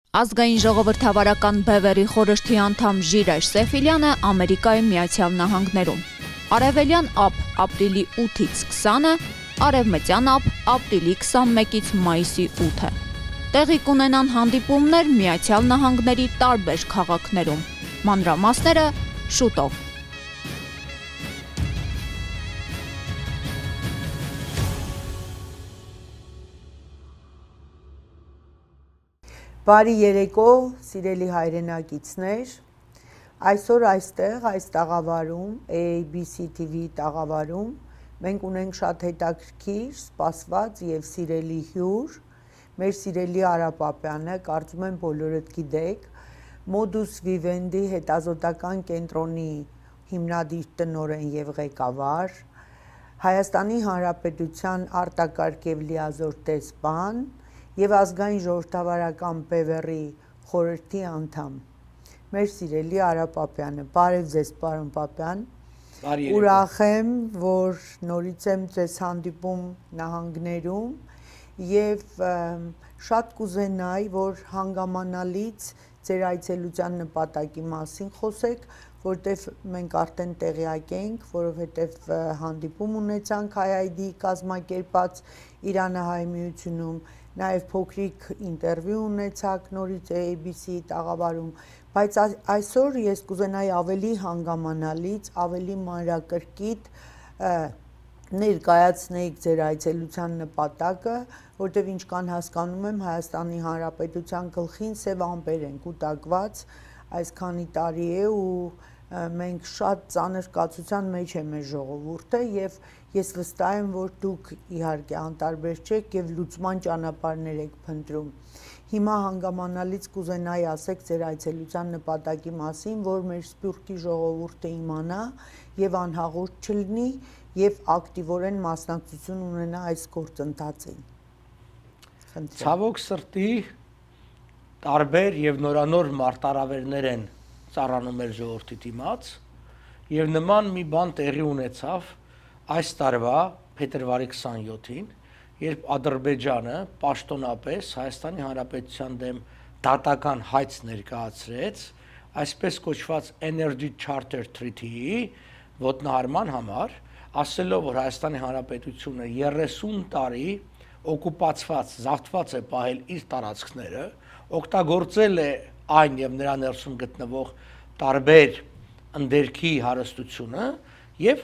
Ազգային ժողովրդավարական բևեռի խորհրդի անդամ Ժիրայր Սեֆիլյանը Ամերիկայի Միացյալ Նահանգներում, արևելյան ափ ապրիլի 8-ից 20-ը, արևմտյան ափ ապրիլի 21-ից մայիսի 8-ը։ Տեղի կունենան հանդիպումներ Միացյալ Նահանգների տարբեր քաղաքներում։ Մանրամասները շուտով։ Բարի երեկո, սիրելի հայրենակիցներ, այսօր այստեղ, այս տաղավարում, ABC TV տաղավարում, մենք ունենք շատ հետաքրքիր, սպասված և սիրելի հյուր, մեր սիրելի Արա Պապյանը, կարծում եմ բոլորդ գիտեք, Modus Vivendi հետազոտական կենտրոնի հիմնադիր տնօրեն և ղեկավար, Հայաստանի Հանրապետության արտակարգ և լիազոր տեսփան և ազգային ժողովրդավարական բևեռի խորհրդի անդամ, մեր սիրելի Արա Պապյանը, բարև ձեզ պարոն Պապյան, ուրախ եմ, որ նորից եմ ձեզ հանդիպում նահանգներում և շատ կուզենայի, որ հանգամանալից ձեր այցելության նպատակի մասին խոսեք, որտեվ մենք արդեն տեղյակ ենք, որովհետև հանդիպում ունեցանք IID կազմակերպած Իրանահայ միությունում, նաև փոքրիկ ինտերվյու ունեցաք նորից ABC տաղավարում, բայց այսօր ես կուզենայի ավելի հանգամանալից, ավելի մանրակրկիտ ներկայացնեիք ձեր այցելության նպատակը, որտև ինչքան հասկանում եմ Հայաստանի Հանրապետության գլխին սև ամպեր են կուտակված, այսքանի տարի է ու մենք շատ ծանր կացության մեջ է մեր ժողովուրդը և ես վստահ եմ, որ դուք իհարկե անտարբեր չեք և լուծման ճանապարհներ եք փնտրում։ Հիմա հանգամանալից կուզենայի ասեք ձեր այցելության նպատակի մասին, որ մեր սփյուռքի ժողովուրդը իմանա և անհաղորդ չլինի և ակտիվորեն մասնակցություն ունենա այս գործընթացին։ Ցավոք սրտի տարբեր և նորանոր մարտահրավերներ են ծառանում մեր ժողովրդի դիմաց և նման մի բան տեղի ունեցավ այս տարվա փետրվարի 27-ին, երբ Ադրբեջանը պաշտոնապես Հայաստանի Հանրապետության դեմ դատական հայց ներկայացրեց այսպես կոչված Energy Charter Treaty-ի ոտնահարման համար, ասելով, որ Հայաստանի Հանրապետությունը 30 տարի օկուպացված, զավթված է պահել իր տարածքները, օգտագործել է այն և նրա ներսում գտնվող տարբեր ընդերքի հարստությունը և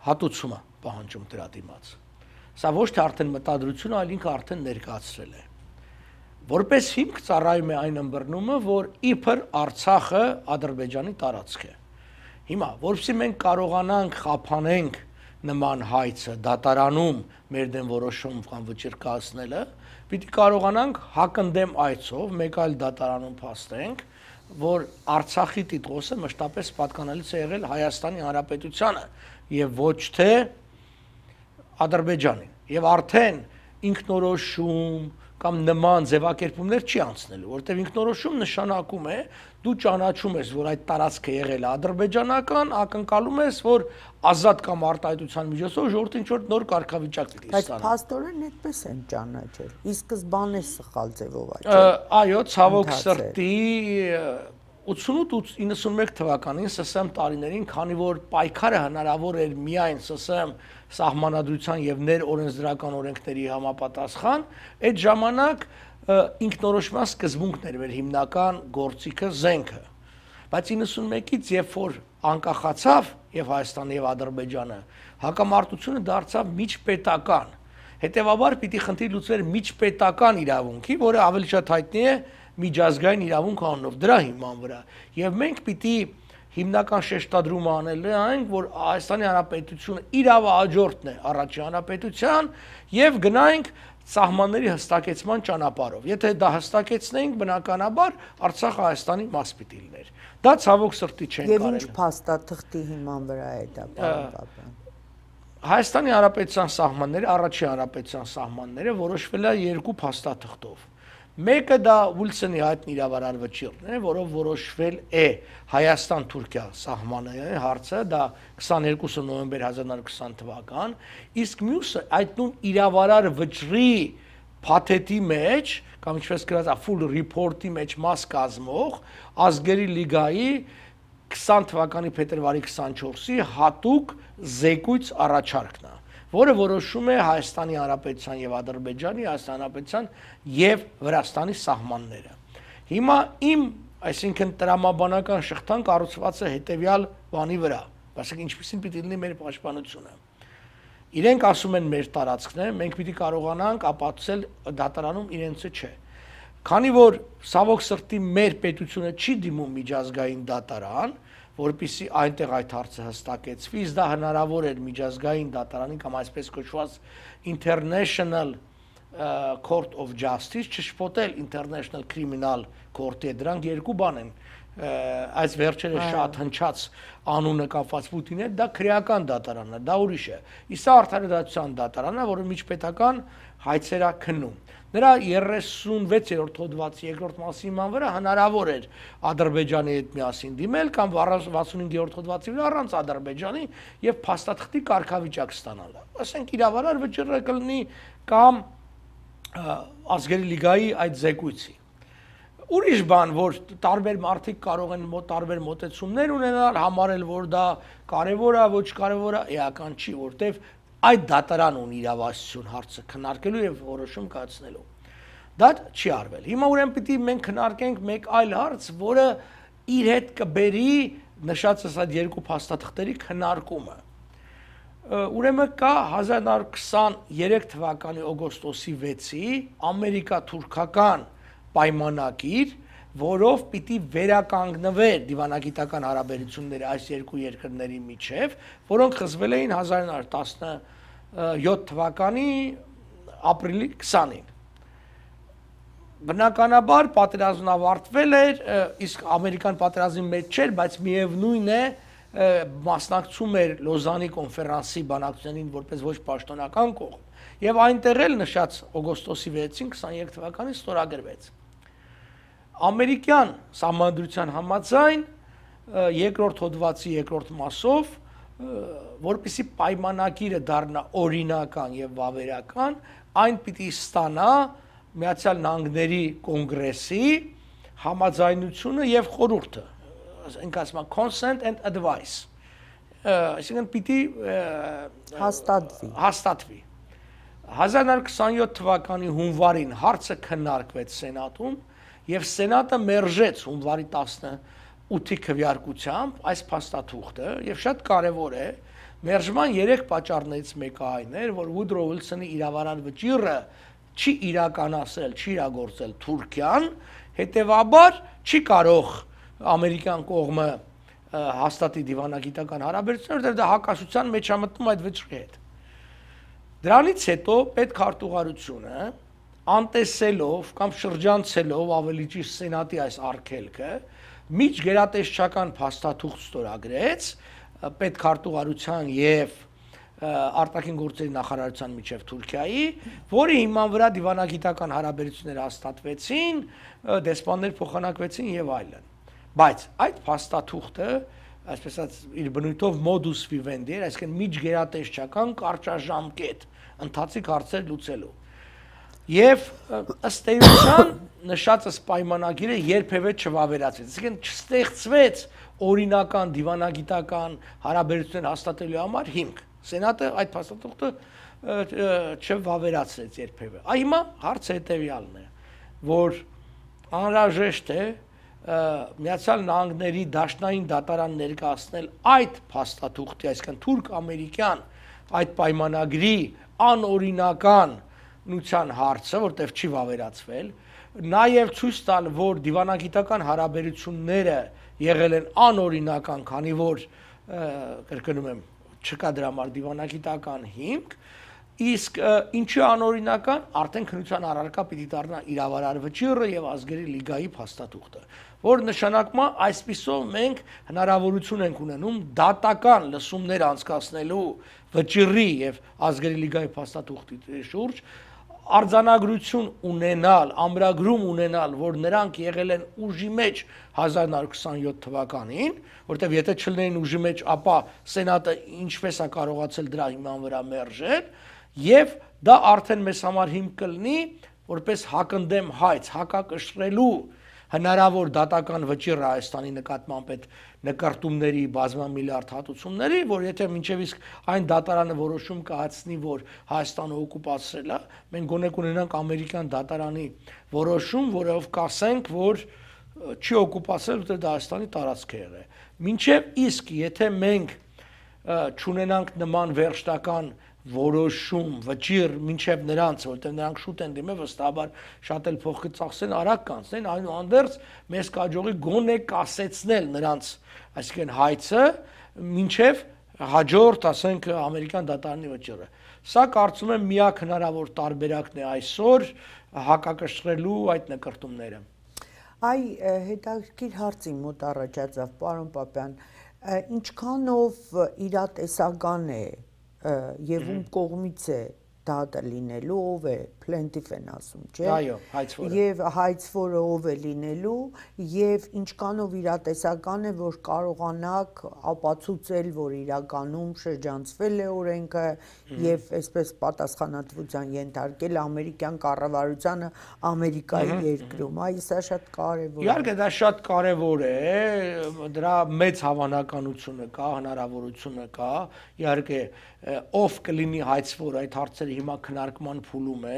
հատուցումը պահանջում դրա դիմաց։ Սա ոչ թե արդեն մտադրություն, այլ ինքը արդեն ներկայացրել է։ Որպես հիմք ծառայում է այն ըմբռնումը, որ իբր Արցախը Ադրբեջանի տարածք է։ Հիմա, որպեսզի մենք կարողանանք խափանենք նման հայցը դատարանում մեր դեմ որոշում կամ վճիռ կայացնելը, պիտի կարողանանք հակընդդեմ այցով մեկ այլ դատարանում փաստենք, որ Արցախի տիտղոսը մշտապես պատկանելիս է եղել Հայաստանի Հանրապետությանը և ոչ թե Ադրբեջանին և արդեն ինքնորոշում կամ նման ձևակերպումներ չի անցնելու, որտեղ ինքնորոշում նշանակում է դու ճանաչում ես, որ այդ տարածքը եղել է ադրբեջանական, ակնկալում ես, որ ազատ կամ արտահայտության միջոցով ժողովուրդը ինչ-որ նոր կարգավիճակ պիտի ստանա։ Բայց փաստորեն այդպես են ճանաչել։ Ի սկզբանե սխալ ձևով այո, ցավոք սրտի 88-91 թվականին ՍՍՄ տարիներին, քանի որ պայքարը հնարավոր էր միայն ՍՍՄ սահմանադրության եւ ներօրենսդրական օրենքների համապատասխան, այդ ժամանակ ինքնորոշման սկզբունքն էր մեր հիմնական գործիքը, զենքը։ Բայց 91-ից երբ որ անկախացավ եւ Հայաստանը եւ Ադրբեջանը, հակամարտությունը դարձավ միջպետական։ Հետևաբար պիտի խնդիր լուծվեր միջպետական իրավունքի, որը ավելի շատ հայտնի է միջազգային իրավունք անունով, դրա հիման վրա։ Եվ մենք պիտի հիմնական շեշտադրումը անել այն, որ Հայաստանի Հանրապետությունը իրավահաջորդն է առաջին հանրապետության եւ գնայինք սահմանների հստակեցման ճանապարհով։ Եթե դա հստակեցնեինք, բնականաբար Արցախը Հայաստանի մաս պիտի լիներ։ Դա ցավոք սրտի չեն կարել։ Եվ ինչ փաստաթղթի հիման վրա է դա, պարոն Պապյան։ Հայաստանի Հանրապետության սահմանները, առաջին հանրապետության սահմանները որոշվել է երկու փաստաթղթով։ Մեկը դա Ուիլսոնի հայտնի իրավարար վճիռն է, որով որոշվել է Հայաստան-Թուրքիա սահմանի հարցը, դա 22 նոյեմբեր 1920 թվական, իսկ մյուսը այդ նույն իրավարար վճռի փաթեթի մեջ կամ ինչպես գրած է full report-ի մեջ մաս կազմող ազգերի լիգայի 20 թվականի փետրվարի 24-ի հատուկ զեկույց առաջարկն է, որը որոշում է Հայաստանի Հանրապետության եւ Ադրբեջանի, Հայաստանի Հանրապետության եւ Վրաստանի սահմանները։ Հիմա իմ, այսինքն տրամաբանական շղթան կառուցված է հետեւյալ բանի վրա, ասենք ինչպեսին պիտի լինի մեր պաշտպանությունը։ Իրենք ասում են մեր տարածքն է, մենք պիտի կարողանանք ապացուցել դատարանում իրենցը չէ։ Քանի որ ցավոք սրտի մեր պետությունը չի դիմում միջազգային դատարան, որպեսզի այնտեղ այդ հարցը հստակեցվի, իսկ դա հնարավոր էր միջազգային դատարանի կամ այսպես կոչված International Court of Justice, չշփոթել International Criminal Court-ի, դրանք երկու բան են։ Այս վերջերս շատ հնչած անունը կապված Պուտինի հետ, դա քրեական դատարանն է, դա ուրիշ է։ Իսկ արդարադատության դատարանն է, որը միջպետական հայցեր է քննում։ Նրա 36-րդ հոդվածի երկրորդ մասի հիման վրա հնարավոր էր Ադրբեջանի հետ միասին դիմել կամ 65-րդ հոդվածի վրա առանց Ադրբեջանի եւ փաստաթղթի կարգավիճակ ստանալ։ Ասենք իրավարար վճռը կլինի կամ ազգերի լիգայի այդ զեկույցի։ Ուրիշ բան, որ տարբեր մարդիկ կարող են տարբեր մոտեցումներ ունենալ, համարել, որ դա կարևոր է, ոչ կարևոր է, էական չի, որտեվ այդ դատարան ունի իրավասություն հարցը քննարկելու եւ որոշում կայացնելու։ Դա չի արվել։ Հիմա ուրեմն պիտի մենք քննարկենք մեկ այլ հարց, որը իր հետ կբերի նշածս այդ երկու փաստաթղթերի քննարկումը։ Ուրեմն կա 1923 թվականի օգոստոսի 6-ի ամերիկա-թուրքական պայմանագիր, որով պիտի վերականգնվեր դիվանագիտական հարաբերությունները այս երկու երկրների միջև, որոնք խզվել էին 1917 թվականի ապրիլի 20-ին։ Բնականաբար պատերազմն ավարտվել էր, իսկ ամերիկան պատերազմի մեջ չէր, բայց միևնույն է մասնակցում էր Լոզանի կոնֆերանսի բանակցություններին որպես ոչ պաշտոնական կողմ, եւ այնտեղ էլ նշած օգոստոսի 6-ին 23 թվականին ստորագրվեց։ Ամերիկյան սահմանադրության համաձայն երկրորդ հոդվածի երկրորդ մասով, որպեսզի պայմանագիրը դառնա օրինական եւ վավերական, այն պիտի ստանա Միացյալ Նահանգների կոնգրեսի համաձայնությունը եւ խորհուրդը, ասենք ասում consent and advice, այսինքն պիտի հաստատվի։ 1927 թվականի հունվարին հարցը քննարկվեց Սենատում եւ Սենատը մերժեց հունվարի 18-ի քվեարկությամբ այս փաստաթուղթը եւ շատ կարեւոր է մերժման 3 պատճառներից մեկը այն էր, որ Woodrow Wilson-ի իրավարար վճիռը չի իրականացել, չի իրագործել Թուրքիան, հետեւաբար չի կարող ամերիկյան կողմը հաստատի դիվանագիտական հարաբերություններ, որտեղ դա հակասության մեջ է մտնում այդ վճռի հետ։ Դրանից հետո պետքարտուղարությունը անտեսելով կամ շրջանցելով ավելի ճիշտ Սենատի այս արգելքը միջգերատեսչական փաստաթուղթ ստորագրեց պետքարտուղարության եւ արտաքին գործերի նախարարության միջև Թուրքիայի, որի հիման վրա դիվանագիտական հարաբերություններ հաստատվեցին, դեսպաններ փոխանակվեցին եւ այլն։ Բայց այդ փաստաթուղթը, այսպես ասած, իր բնույթով modus vivendi էր, այսինքն միջգերատեսչական կարճաժամկետ ընթացիկ հարցեր լուծելու։ Եվ ըստ էության նշածս պայմանագիրը երբևէ չվավերացվեց, այսինքն չստեղծվեց օրինական դիվանագիտական հարաբերություններ հաստատելու համար հիմք։ Սենատը այդ փաստաթուղթը չվավերացրեց երբևէ։ Հիմա հարցը հետևյալն է, որ անհրաժեշտ է Միացյալ Նահանգների դաշնային դատարան ներկայացնել այդ փաստաթուղթի, այսինքն թուրք-ամերիկյան այդ պայմանագրի անօրինականության հարցը, որտեղ չի վավերացվել, նաև ցույց տալ, որ դիվանագիտական հարաբերությունները եղել են անօրինական, քանի որ կրկնում եմ, չկա դրա համար դիվանագիտական հիմք, իսկ ինչի անօրինական, արդեն քննության առարկա պիտի դառնա իրավարար վճիռը եւ ազգերի լիգայի փաստաթուղթը, որ նշանակում է այսպիսով մենք հնարավորություն ենք ունենում դատական լսումներ անցկացնելու վճիռի եւ ազգերի լիգայի փաստաթուղթի շուրջ արձանագրություն ունենալ, ամրագրում ունենալ, որ նրանք եղել են ուժի մեջ 1927 թվականին, որտեղ եթե չլինեին ուժի մեջ, ապա Սենատը ինչպես է կարողացել դրա հիման վրա մերժել, եւ դա արդեն մեզ համար հիմք կլինի որպես հակընդդեմ հայց, հակակշռելու հնարավոր դատական վճիռ Հայաստանի նկատմամբ այդ նկարտումների բազմամիլիարդ հատուցումների, որ եթե մինչև իսկ այն դատարանը որոշում կայացնի, որ Հայաստանը օկուպացրել է, մենք գոնե կունենանք ամերիկյան դատարանի որոշում, որով կասենք, որ չի օկուպացրել, որտեղ դա Հայաստանի տարածք է եղել։ Մինչև իսկ եթե մենք չունենանք նման վերջնական որոշում, վճիռ մինչև նրանց, որտեղ նրանք շուտ են դիմել, վստահաբար շատ էլ փող կծախսեն, արագ կանցնեն, այնուհանդերձ մեզ կհաջողի գոնե կասեցնել նրանց, այսինքն հայցը, մինչև հաջորդ, ասենք, ամերիկյան դատարանի վճիռը։ Սա կարծում եմ միակ հնարավոր տարբերակն է այսօր հակակշռելու այդ նկարտումները։ Այ հետաքրքիր հարց իմ մոտ առաջացավ, պարոն Պապյան, ինչքանով իրատեսական է եւ ում կողմից է դատը լինելու, ով է plaintiff են ասում, չէ՞։ Այո, հայցվորը։ Եվ հայցվորը ով է լինելու եւ ինչքանով իրատեսական է, որ կարողանաք ապացուցել, որ իրականում շրջանցվել է օրենքը եւ այսպես պատասխանատվության ենթարկել ամերիկյան կառավարությանը Ամերիկայի երկրում։ Այ սա շատ կարեւոր է։ Իհարկե դա շատ կարեւոր է, դրա մեծ հավանականությունը կա, հնարավորությունը կա, իհարկե ով կլինի հայցվոր այդ հարցերը հիմա քննարկման փուլում է,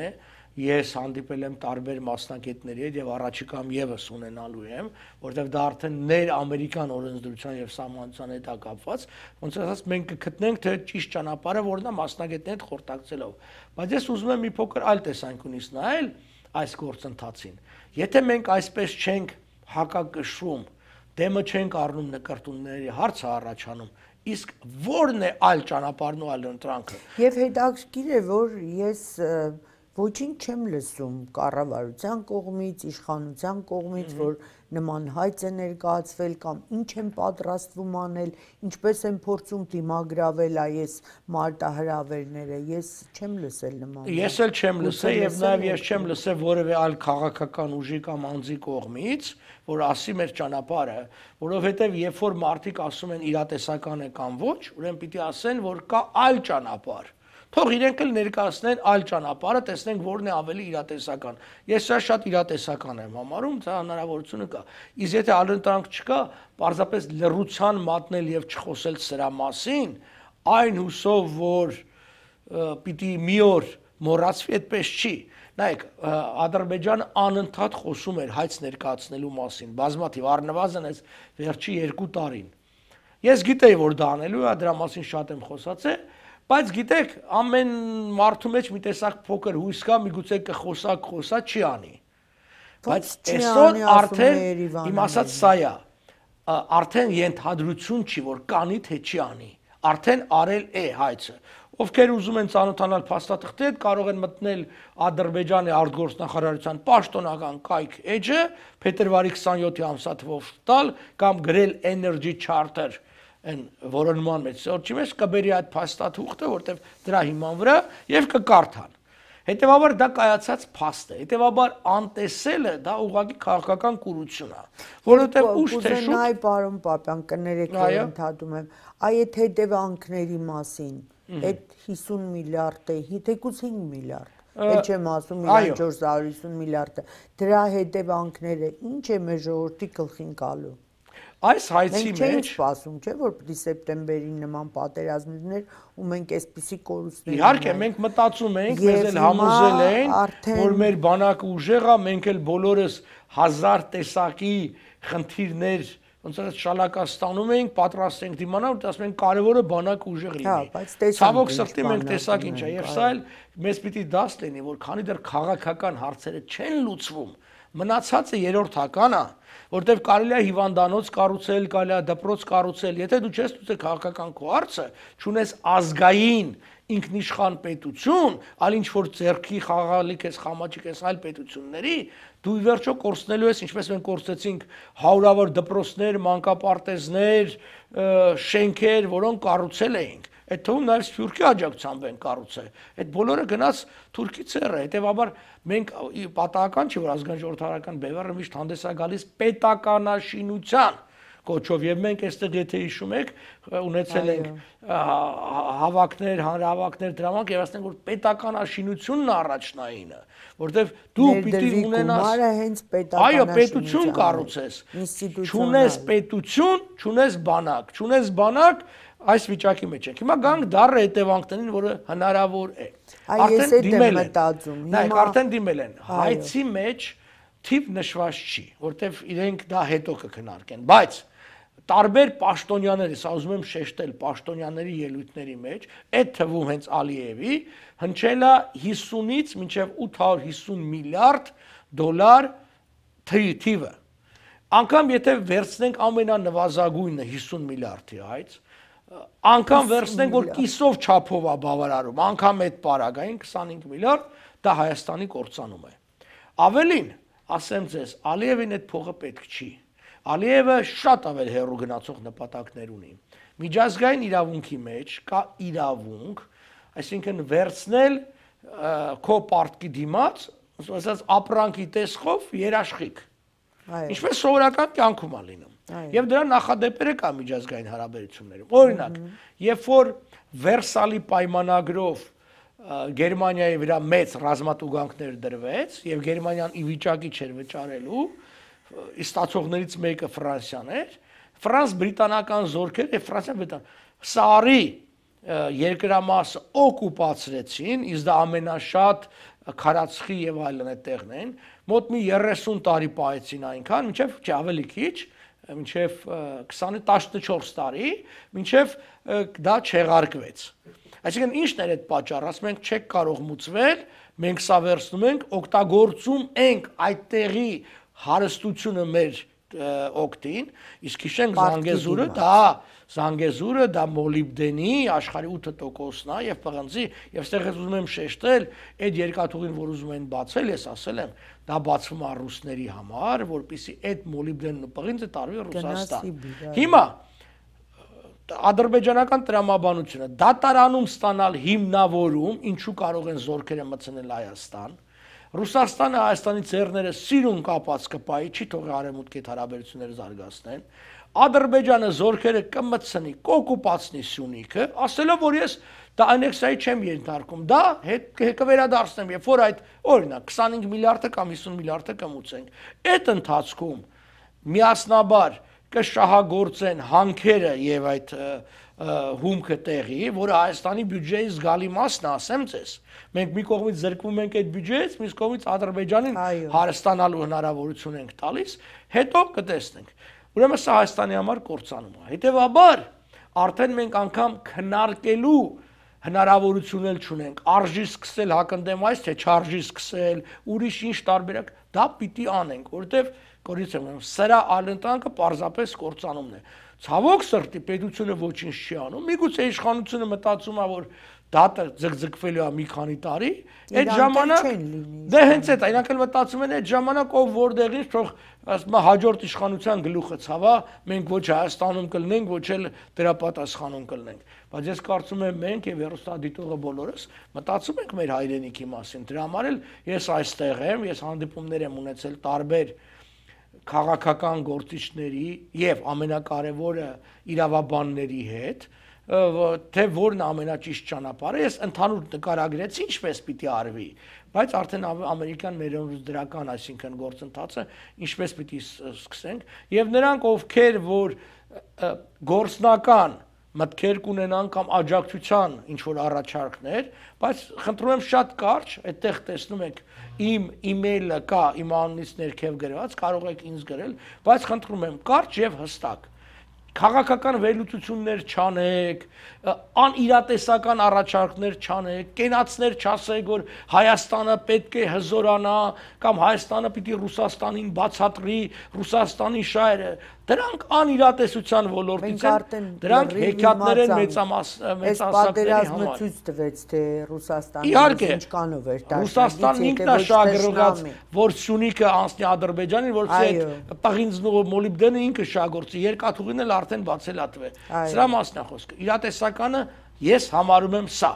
ես հանդիպել եմ տարբեր մասնագետների հետ եւ առաջիկայում եւս ունենալու եմ, որովհետեւ դա արդեն ներ-ամերիկյան օրենսդրության եւ սահմանության հետ է կապված, ոնց ասած մենք կգտնենք թե ճիշտ ճանապարհը, որն է մասնագետների հետ խորհրդակցելով։ Բայց ես ուզում եմ մի փոքր այլ տեսանկյունից նայել այս գործընթացին։ Եթե մենք այսպես չենք հակակշռում, դեմը չենք առնում նկարտումների հարցը առաջանում, իսկ ո՞րն է այլ ճանապարհն ու այլ ընտրանքը։ Եվ հետաքրքիր է, որ ես ոչինչ չեմ լսում կառավարության կողմից, իշխանության կողմից, որ նման հայց է ներկայացվել կամ ինչ են պատրաստվում անել, ինչպես են փորձում դիմագրավել այս մարտահրավերները, ես չեմ լսել նման։ Ես էլ չեմ լսել եւ նաեւ ես չեմ լսել որևէ այլ քաղաքական ուժի կամ անձի կողմից, որ ասի մեր ճանապարհը, որովհետեւ երբ որ մարդիկ ասում են իրատեսական է կամ ոչ, ուրեմն պիտի ասեն, որ կա այլ ճանապարհ։ Թող իրենք էլ ներկայացնեն այլ ճանապարհը, տեսնենք որն է ավելի իրատեսական։ Ես սա շատ իրատեսական եմ համարում, դա հնարավորությունը կա։ Իսկ եթե այլընտրանք չկա, պարզապես լռության մատնել եւ չխոսել սրա մասին, այն հուսով, որ պիտի մի օր մոռացվի, այդպես չի։ Նայեք, Ադրբեջանը անընդհատ խոսում էր հայց ներկայացնելու մասին, բազմաթիվ, առնվազն այս վերջի 2 տարին։ Ես գիտեի, որ դա անելու է, դրա մասին շատ եմ խոսացել, բայց գիտեք, ամեն մարդու մեջ մի տեսակ փոքր հույս կա, միգուցե կխոսա, չի անի։ Բայց այսօր արդեն իմ ասած սա է, արդեն ենթադրություն չի, որ կանի թե չի անի, արդեն արել է հայցը։ Ովքեր ուզում են ծանոթանալ փաստաթղթերի հետ, կարող են մտնել Ադրբեջանի արտգործնախարարության պաշտոնական կայք էջը, փետրվարի 27-ի ամսաթվով տալ կամ գրել Energy Charter են որոնման մեջ սորճի մեջ կբերի այդ փաստաթուղթը, որտեղ դրա հիման վրա եւ կկարդան։ Հետևաբար դա կայացած փաստ է, հետևաբար անտեսելը դա ուղղակի քաղաքական կուրություն է, որովհետեւ ուշ թե շուտ։ Այ պարոն Պապյան, կներեք, որ ընդհատում եմ, այդ հետևանքների մասին, այդ 50 միլիարդ է, թեկուզ 5 միլիարդ, էլ չեմ ասում 450 միլիարդը, դրա հետևանքները ինչ է մեր ժողովրդի գլխին գալու։ Այս հայցի մեջ մենք չենք սպասում, չէ՞, որ պիտի սեպտեմբերին նման պատերազմ լիներ ու մենք այսպիսի կորուստներ։ Իհարկե, մենք մտածում ենք, մեզ էլ համոզել են, որ մեր բանակը ուժեղ է, մենք էլ բոլորս 1000 տեսակի խնդիրներ, ոնց որ շալակաստանում ենք, պատրաստ ենք դիմանալ, ասում ենք կարևորը բանակը ուժեղ լինի։ Ցավոք սրտի մենք տեսակ ինչ է, եւ սա էլ մեզ պիտի դաս լինի, որ քանի դեռ քաղաքական հարցերը չեն լուծվում, մնացածը երրորդական է, որտեվ կարելի է հիվանդանոց կառուցել, կարելի է դպրոց կառուցել, եթե դու չես լուծել քաղաքական քո հարցը, չունես ազգային ինքնիշխան պետություն, այլ ինչ որ ձեռքի խաղալիք ես, խամաճիկ ես այլ պետությունների, դու ի վերջո կորցնելու ես, ինչպես մենք կորցրեցինք հարյուրավոր դպրոցներ, մանկապարտեզներ, շենքեր, որոնք կառուցել էինք։ Այդ թվում նաև Սփյուռքի աջակցությամբ են կառուցել։ Այդ բոլորը գնաց Թուրքի ցեռը, հետևաբար մենք պատահական չի, որ ազգային ժողովրդարական բևեռը միշտ հանդես է գալիս պետականաշինության կոչով եւ մենք այստեղ եթե հիշում եք ունեցել ենք հավաքներ, հանրահավաքներ դրամանք եւ ասենք որ պետականաշինությունն առաջնայինը, որտեվ դու պիտի ունենաս հենց պետականաշինություն, պետություն կառուցես, չունես պետություն, չունես բանակ, այս վիճակի մեջ ենք։ Հիմա գանք դառը հետևանքներին, որը հնարավոր է։ Արդեն դիմել են։ Հայցի մեջ թիվ նշված չի, որտեվ իրենք դա հետո կքննարկեն, բայց տարբեր պաշտոնյաների, սա ուզում եմ շեշտել պաշտոնյաների ելույթների մեջ, այդ թվում հենց Ալիևի հնչել է 50-ից մինչև 850 միլիարդ դոլար թիվը։ Անգամ եթե վերցնենք ամենանվազագույնը 50 միլիարդի այց, անգամ վերցնենք որ կիսով չափով է բավարարում, անգամ այդ պարագային 25 միլիարդ, դա Հայաստանի կործանում է։ Ավելին, ասեմ ձեզ, Ալիևին այդ փողը պետք չի։ Ալիևը շատ ավել հեռու գնացող նպատակներ ունի։ Միջազգային իրավունքի մեջ կա իրավունք, այսինքն վերցնել քո պարտքի դիմաց, ասած ապրանքի տեսքով երաշխիք։ Ինչպես սովորական կյանքում է լինում։ Եվ դրա նախադեպերը կա միջազգային հարաբերություններում։ Օրինակ, երբ որ Վերսալի պայմանագրով Գերմանիայի վրա մեծ ռազմատուգանքներ դրվեց եւ Գերմանիան ի վիճակի չէր վճարելու, ստացողներից մեկը Ֆրանսիան էր, ֆրանս-բրիտանական զորքեր եւ Ֆրանսիան Սարի երկրամասը օկուպացրեցին, իսկ դա ամենաշատ քարածխի եւ այլն այդտեղն են, մոտ մի 30 տարի պահեցին այնքան, մինչեւ չէ ավելի քիչ, մինչեւ 14 տարի, մինչեւ դա չեղարկվեց։ Այսինքն ինչն էր այդ պատճառը, ասում ենք չեք կարող մուծվել, մենք սա վերցնում ենք, օգտագործում ենք այդտեղի հարստությունը մեր օգտին, իսկ հիշենք Զանգեզուրը դա մոլիբդենի աշխարհի 8%-ն է եւ պղնձի, եւ այստեղ ուզում եմ շեշտել, այդ երկաթուղին, որ ուզում են բացել, ես ասել եմ, դա բացվում է ռուսների համար, որպեսզի այդ մոլիբդենն ու պղինձը տարվի Ռուսաստան։ Հիմա ադրբեջանական տրամաբանությունը դատարանում ստանալ հիմնավորում, ինչու կարող են զորքերը մտցնել Հայաստան։ Ռուսաստանը Հայաստանի ձեռները սիրուն կապած կպայի, չի թողի արևմուտքի հետ հարաբերությունները զարգացնեն։ Ադրբեջանը զորքերը կմտցնի, կօկուպացնի Սյունիքը, ասելով որ ես դա անեքսիայի չեմ ենթարկում, դա կվերադարձնեմ, երբ որ այդ օրինակ 25 միլիարդը կամ 50 միլիարդը կմուծենք։ Այդ ընթացքում միասնաբար կշահագործեն հանքերը եւ այդ հումքը տեղի, որը Հայաստանի բյուջեի զգալի մասն է, ասեմ ձեզ։ Մենք մի կողմից զրկվում ենք այդ բյուջեից, մյուս կողմից Ադրբեջանին հարստանալու հնարավորություն ենք տալիս, հետո կտեսնենք։ Ուրեմն սա Հայաստանի համար կործանում է։ Հետևաբար արդեն մենք անգամ քննարկելու հնարավորություն էլ չունենք, արժի սկսել հակընդդեմ այս, թե չարժի սկսել, ուրիշ ինչ տարբերակ, դա պիտի անենք, որովհետև կորից եմ սրա ալընտանքը պարզապես կործանումն է։ Ցավոք սրտի պետությունը ոչինչ չի անում։ Միգուցե իշխանությունը մտածում է, որ դատը ձգձգվելու է մի քանի տարի, այդ ժամանակ դե հենց այդ իրանք էլ մտածում են այդ ժամանակ ով որտեղից թող ասում է հաջորդ իշխանության գլուխը ցավա, մենք ոչ Հայաստանում կլինենք, ոչ էլ դրա պատասխանում կլինենք։ Բայց ես կարծում եմ մենք եւ հեռուստադիտողը բոլորս մտածում ենք մեր հայրենիքի մասին։ Դրա համար էլ ես այստեղ եմ, ես հանդիպումներ եմ ունեցել տարբեր քաղաքական գործիչների եւ ամենակարևորը իրավաբանների հետ, թե որն ամենաճիշտ ճանապարհը, ես ընդհանուր նկարագրեցի ինչպես պիտի արվի, բայց արդեն ամերիկյան ներդրական, այսինքն գործընթացը ինչպես պիտի սկսենք եւ նրանք ովքեր որ գործնական մտքեր կունենան կամ աջակցության ինչ որ առաջարկներ, բայց խնդրում եմ շատ կարճ, այդտեղ տեսնում եք իմ email-ը կա, իմ անունից ներքև գրված, կարող եք ինձ գրել, բայց խնդրում եմ կարճ եւ հստակ։ Քաղաքական վերլուծություններ չանեք, անիրատեսական առաջարկներ չանեք, կենացներ չասեք, որ Հայաստանը պետք է հզորանա կամ Հայաստանը պիտի Ռուսաստանին բացատրի, Ռուսաստանի շահերը, դրանք անիրատեսության ոլորտից են, դրանք հեքիաթներ են մեծամասնների համար։ Ցույց տվեց, թե Ռուսաստանը ինչ կանով էր դաշնակից, Ռուսաստանն ինքնաշահագրգռված, որ Սյունիքը անցնի Ադրբեջանին, որ այդ պղինձն ու մոլիբդենը ինքը շահագործի, երկաթուղին էլ արդեն բացել է տվել։ Սրա մասն է խոսքը։ Իրատեսականը ես համարում եմ սա։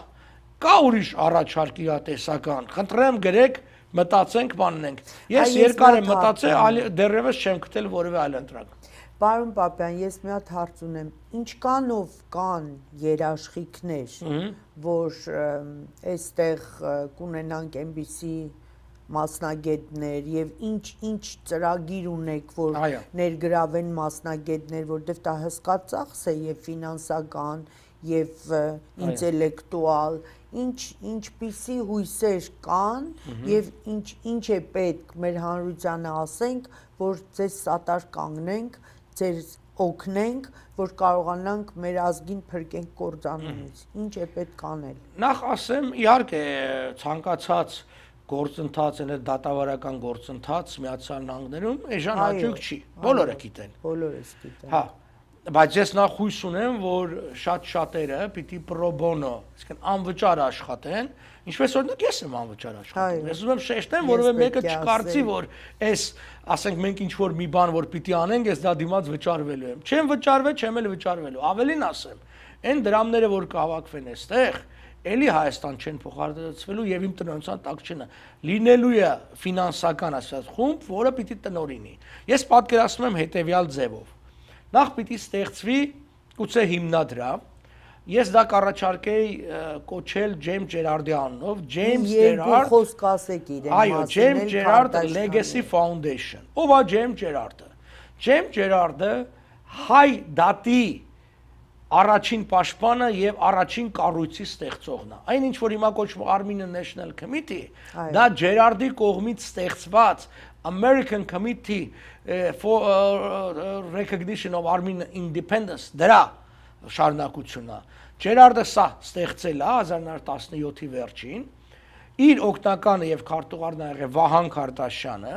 Կա ուրիշ առաջարկ իրատեսական։ Խնդրեմ գրեք, մտածենք, բանենք։ Ես երկար եմ մտածել, դեռևս չեմ գտել որևէ այլ ընտրակ։ Պարոն Պապյան, ես մի հատ հարց ունեմ, ինչքանով կան երաշխիքներ, որ այստեղ կունենանք այնպիսի մասնագետներ եւ ինչ ծրագիր ունեք, որ ներգրավեն մասնագետներ, որտեղ դա հսկա ծախս է եւ ֆինանսական եւ ինտելեկտուալ, ինչպիսի հույսեր կան եւ ինչ է պետք մեր հանրությանը ասենք, որ ձեզ սատար կանգնենք, ձեր օգնենք, որ կարողանանք մեր ազգին փրկենք կործանումից։ Ինչ է պետք անել։ Նախ ասեմ, իհարկե ցանկացած գործընթաց են դատավարական գործընթաց Միացյալ Նահանգներում էժան հաճույք չի, բոլորը գիտեն։ Բոլորս գիտեն։ Հա, բայց ես նախ հույս ունեմ, որ շատերը պիտի պրո բոնո, այսինքն անվճար աշխատեն, ինչպես օրինակ ես եմ անվճար աշխատում։ Ես ուզում եմ շեշտեմ, որովհետեւ մեկը չկարծի, որ այս, ասենք մենք ինչ որ մի բան որ պիտի անենք, ես դա դիմաց վճարվելու եմ։ Չեմ վճարվել, չեմ էլ վճարվելու։ Ավելին ասեմ, այն դրամները, որ կհավաքվեն այստեղ, էլի Հայաստան չեն փոխհատուցվելու եւ իմ տնօրինության տակ չնա լինելու է ֆինանսական ասած խումբ, որը պիտի տնօրինի։ Ես պատկերացնում եմ հետեւյալ ձևով։ Նախ պիտի ստեղծվի գուցե հիմնադրամ, ես դա կառաջարկեի կոչել Ջեյմս Ջերարդի անունով, Ջեյմս Ջերարդ խոսք ասեք իրեն մասին։ Այո, Ջեյմս Ջերարդ Legacy Foundation։ Ով է Ջեյմս Ջերարդը։ Ջեյմս Ջերարդը հայ դատի առաջին պաշտպանը եւ առաջին կառույցի ստեղծողն է։ Այն ինչ որ հիմա կոչվում Armenian National Committee, դա Ջերարդի կողմից ստեղծված American Committee for Recognition of Armenian Independence դրա շարունակությունն է։ Ջերարդը սա ստեղծել է 1917-ի վերջին, իր օգնականը եւ քարտուղարն ա եղել Վահան Քարտաշյանը,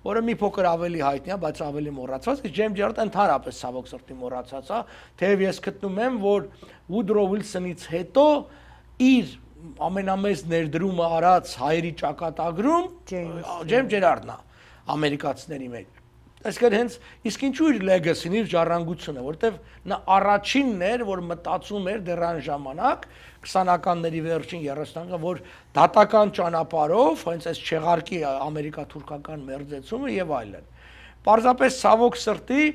որը մի փոքր ավելի հայտնի է, բայց ավելի մոռացված է, Ջեյմս Ջերարդը ընդհանրապես ցավոք սրտի մոռացած է, թեև ես գտնում եմ, որ Woodrow Wilson-ից հետո իր ամենամեծ ներդրումը արած հայերի ճակատագրում Ջեյմս Ջերարդն է, ամերիկացիների մեջ։ Այսինքն հենց իսկ ինչու իր legacy-ն, իր ժառանգությունը, որտեվ նա առաջինն էր, որ մտածում էր դեռ այն ժամանակ 20-ականների վերջին 30-ական, որ դատական ճանապարհով, հենց այս չեղարկի ամերիկա-թուրքական մերձեցումը եւ այլն։ Պարզապես ցավոք սրտի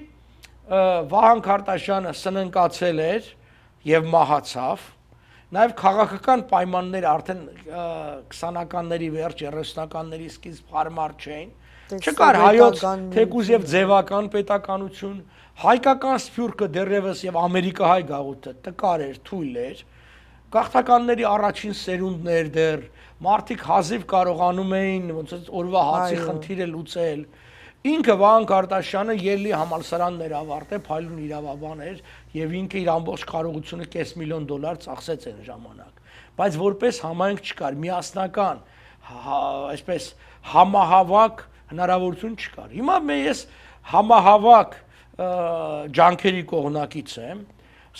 Վահան Քարտաշյանը սննկացել էր եւ մահացավ։ Նաեւ քաղաքական պայմանները արդեն 20-ականների վերջ, 30-ականների սկիզբ հարմար չէին։ Չկար հայոց թեկուզ եւ ձևական պետականություն, հայկական սփյուռքը դեռևս եւ ամերիկահայ գաղութը տկար էր, թույլ էր, գաղթականների առաջին սերունդներ դեռ, մարդիկ հազիվ կարողանում էին ոնց օրվա հացի խնդիրը լուծել։ Ինքը Վահան Քարտաշյանը ելլի համալսարաններ ավարտել, փայլուն իրավաբան էր եւ ինքը իր ամբողջ կարողությունը $500,000 ծախսեց այն ժամանակ։ Բայց որպես համայնք չկար, միասնական, այսպես համահավաք հնարավորություն չկար։ Հիմա ես համահավաք ջանքերի կողմնակից եմ,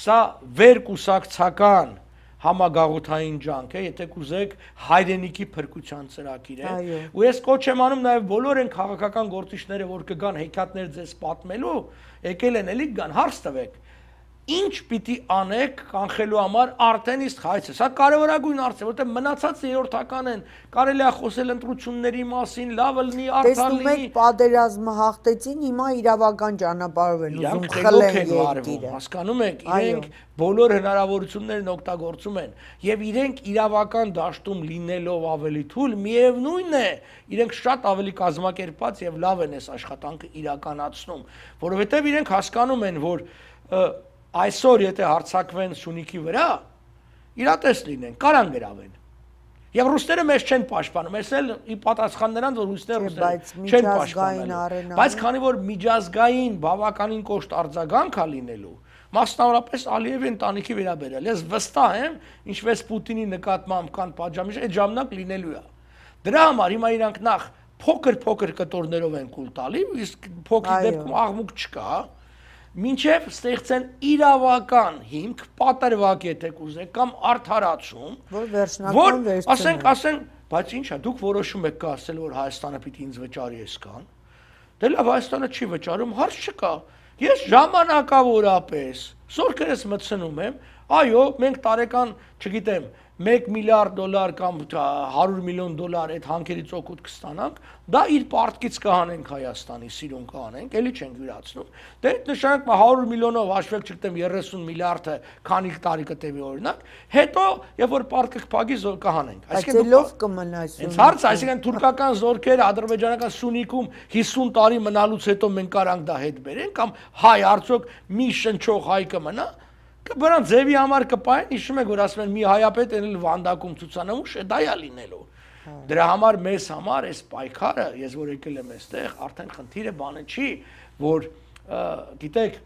սա վերկուսակցական համագաղութային ջանք է, եթե կուզեք հայրենիքի փրկության ծրագիր է։ Ու ես կոչ եմ անում նաև բոլոր այն քաղաքական գործիչները, որ կգան հեքիաթներ ձեզ պատմելու, եկել են էլի գան, հարց տվեք։ Ինչ պիտի անեք կանխելու համար արդեն իսկ հայցը։ Սա կարևորագույն հարց է, որտեղ մնացած երրորդական են, կարելի է խոսել ընտրությունների մասին, լավը լինի, արդար լինի։ Տեսնում եք, պատերազմը հաղթեցին, հիմա իրավական ճանապարհով են ուզում խլեն երկիրը։ Հասկանում եք, իրենք բոլոր հնարավորություններն օգտագործում են եւ իրենք իրավական դաշտում լինելով ավելի թույլ, միևնույնն է, իրենք շատ ավելի կազմակերպված եւ լավ են այս աշխատանքը իրականացնում, որովհետեւ իրենք հասկանում են, որ այսօր եթե հարցակվեն Սյունիքի վրա, իրատես լինեն, կարան գրավեն։ Եվ ռուսները մեզ չեն պաշտպանում, ես էլ ի պատասխան նրանց, որ ռուսները չեն պաշտպանել։ Բայց քանի որ միջազգային բավականին կոշտ արձագանք է լինելու, մասնավորապես Ալիևի ընտանիքի վերաբերյալ, ես վստահ եմ, ինչպես Պուտինի նկատմամբ կան պատժամիջոցներ, այդ ժամանակ լինելու է։ Դրա համար հիմա իրանք նախ փոքր կտորներով են կուլ տալի, իսկ փոքրի դեպքում աղմուկ չկա, մինչև ստեղծեն իրավական հիմք, պատրվակ եթե կուզեք, կամ արդարացում, որ ասենք, բայց ինչ է, դուք որոշում եք ասել, որ Հայաստանը պիտի ինձ վճարի այսքան, դե լավ Հայաստանը չի վճարում, հարց չկա, ես ժամանակավորապես, զորքերս մտցնում եմ, այո, մենք տարեկան, չգիտեմ, $1 միլիարդ կամ $100 միլիոն այդ հանքերից օգուտ կստանանք, դա իր պարտքից կհանենք Հայաստանի, սիրուն կհանենք, էլի չենք յուրացնում։ Դե նշանակում 100 միլիոնով հաշվել չգիտեմ 30 միլիարդը քանի տարի կտևի օրինակ, հետո երբ որ պարտքը կփակի կհանենք։ Այսինքն լավ կմնա Հենց հարց, այսինքն թուրքական զորքերը ադրբեջանական Սյունիքում 50 տարի մնալուց հետո մենք կարանք դա հետ բերենք կամ հայ արդյոք մի շնչող հայ կմնա Բրան ձևի համար կպային, հիշում եք, որ ասում են մի հայապետ էնել վանդակում ցուցանմուշ, դա է լինելու։ Դրա համար մեզ համար այս պայքարը, ես որ եկել եմ այստեղ, արդեն խնդիրը բանը չի, որ գիտեք,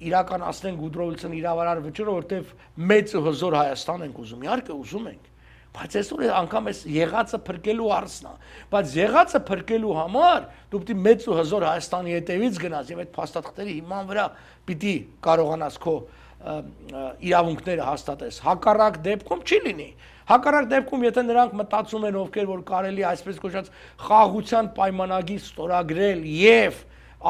իրականացնենք Գուդրովիցն իրավարար վճիռը, որտեվ մեծ ու հզոր Հայաստան ենք ուզում, իհարկե ուզում ենք։ Բայց այսօր անգամ այս եղածը փրկելու հարցն է, բայց եղածը փրկելու համար դու պիտի մեծ ու հզոր Հայաստանի հետևից գնաս եւ այդ փաստաթղթերի հիման վրա պիտի կարողանաս քո իրավունքները հաստատես։ Հակառակ դեպքում չի լինի։ Հակառակ դեպքում եթե նրանք մտածում են ովքեր որ կարելի այսպես կոչած խաղաղության պայմանագիր ստորագրել եւ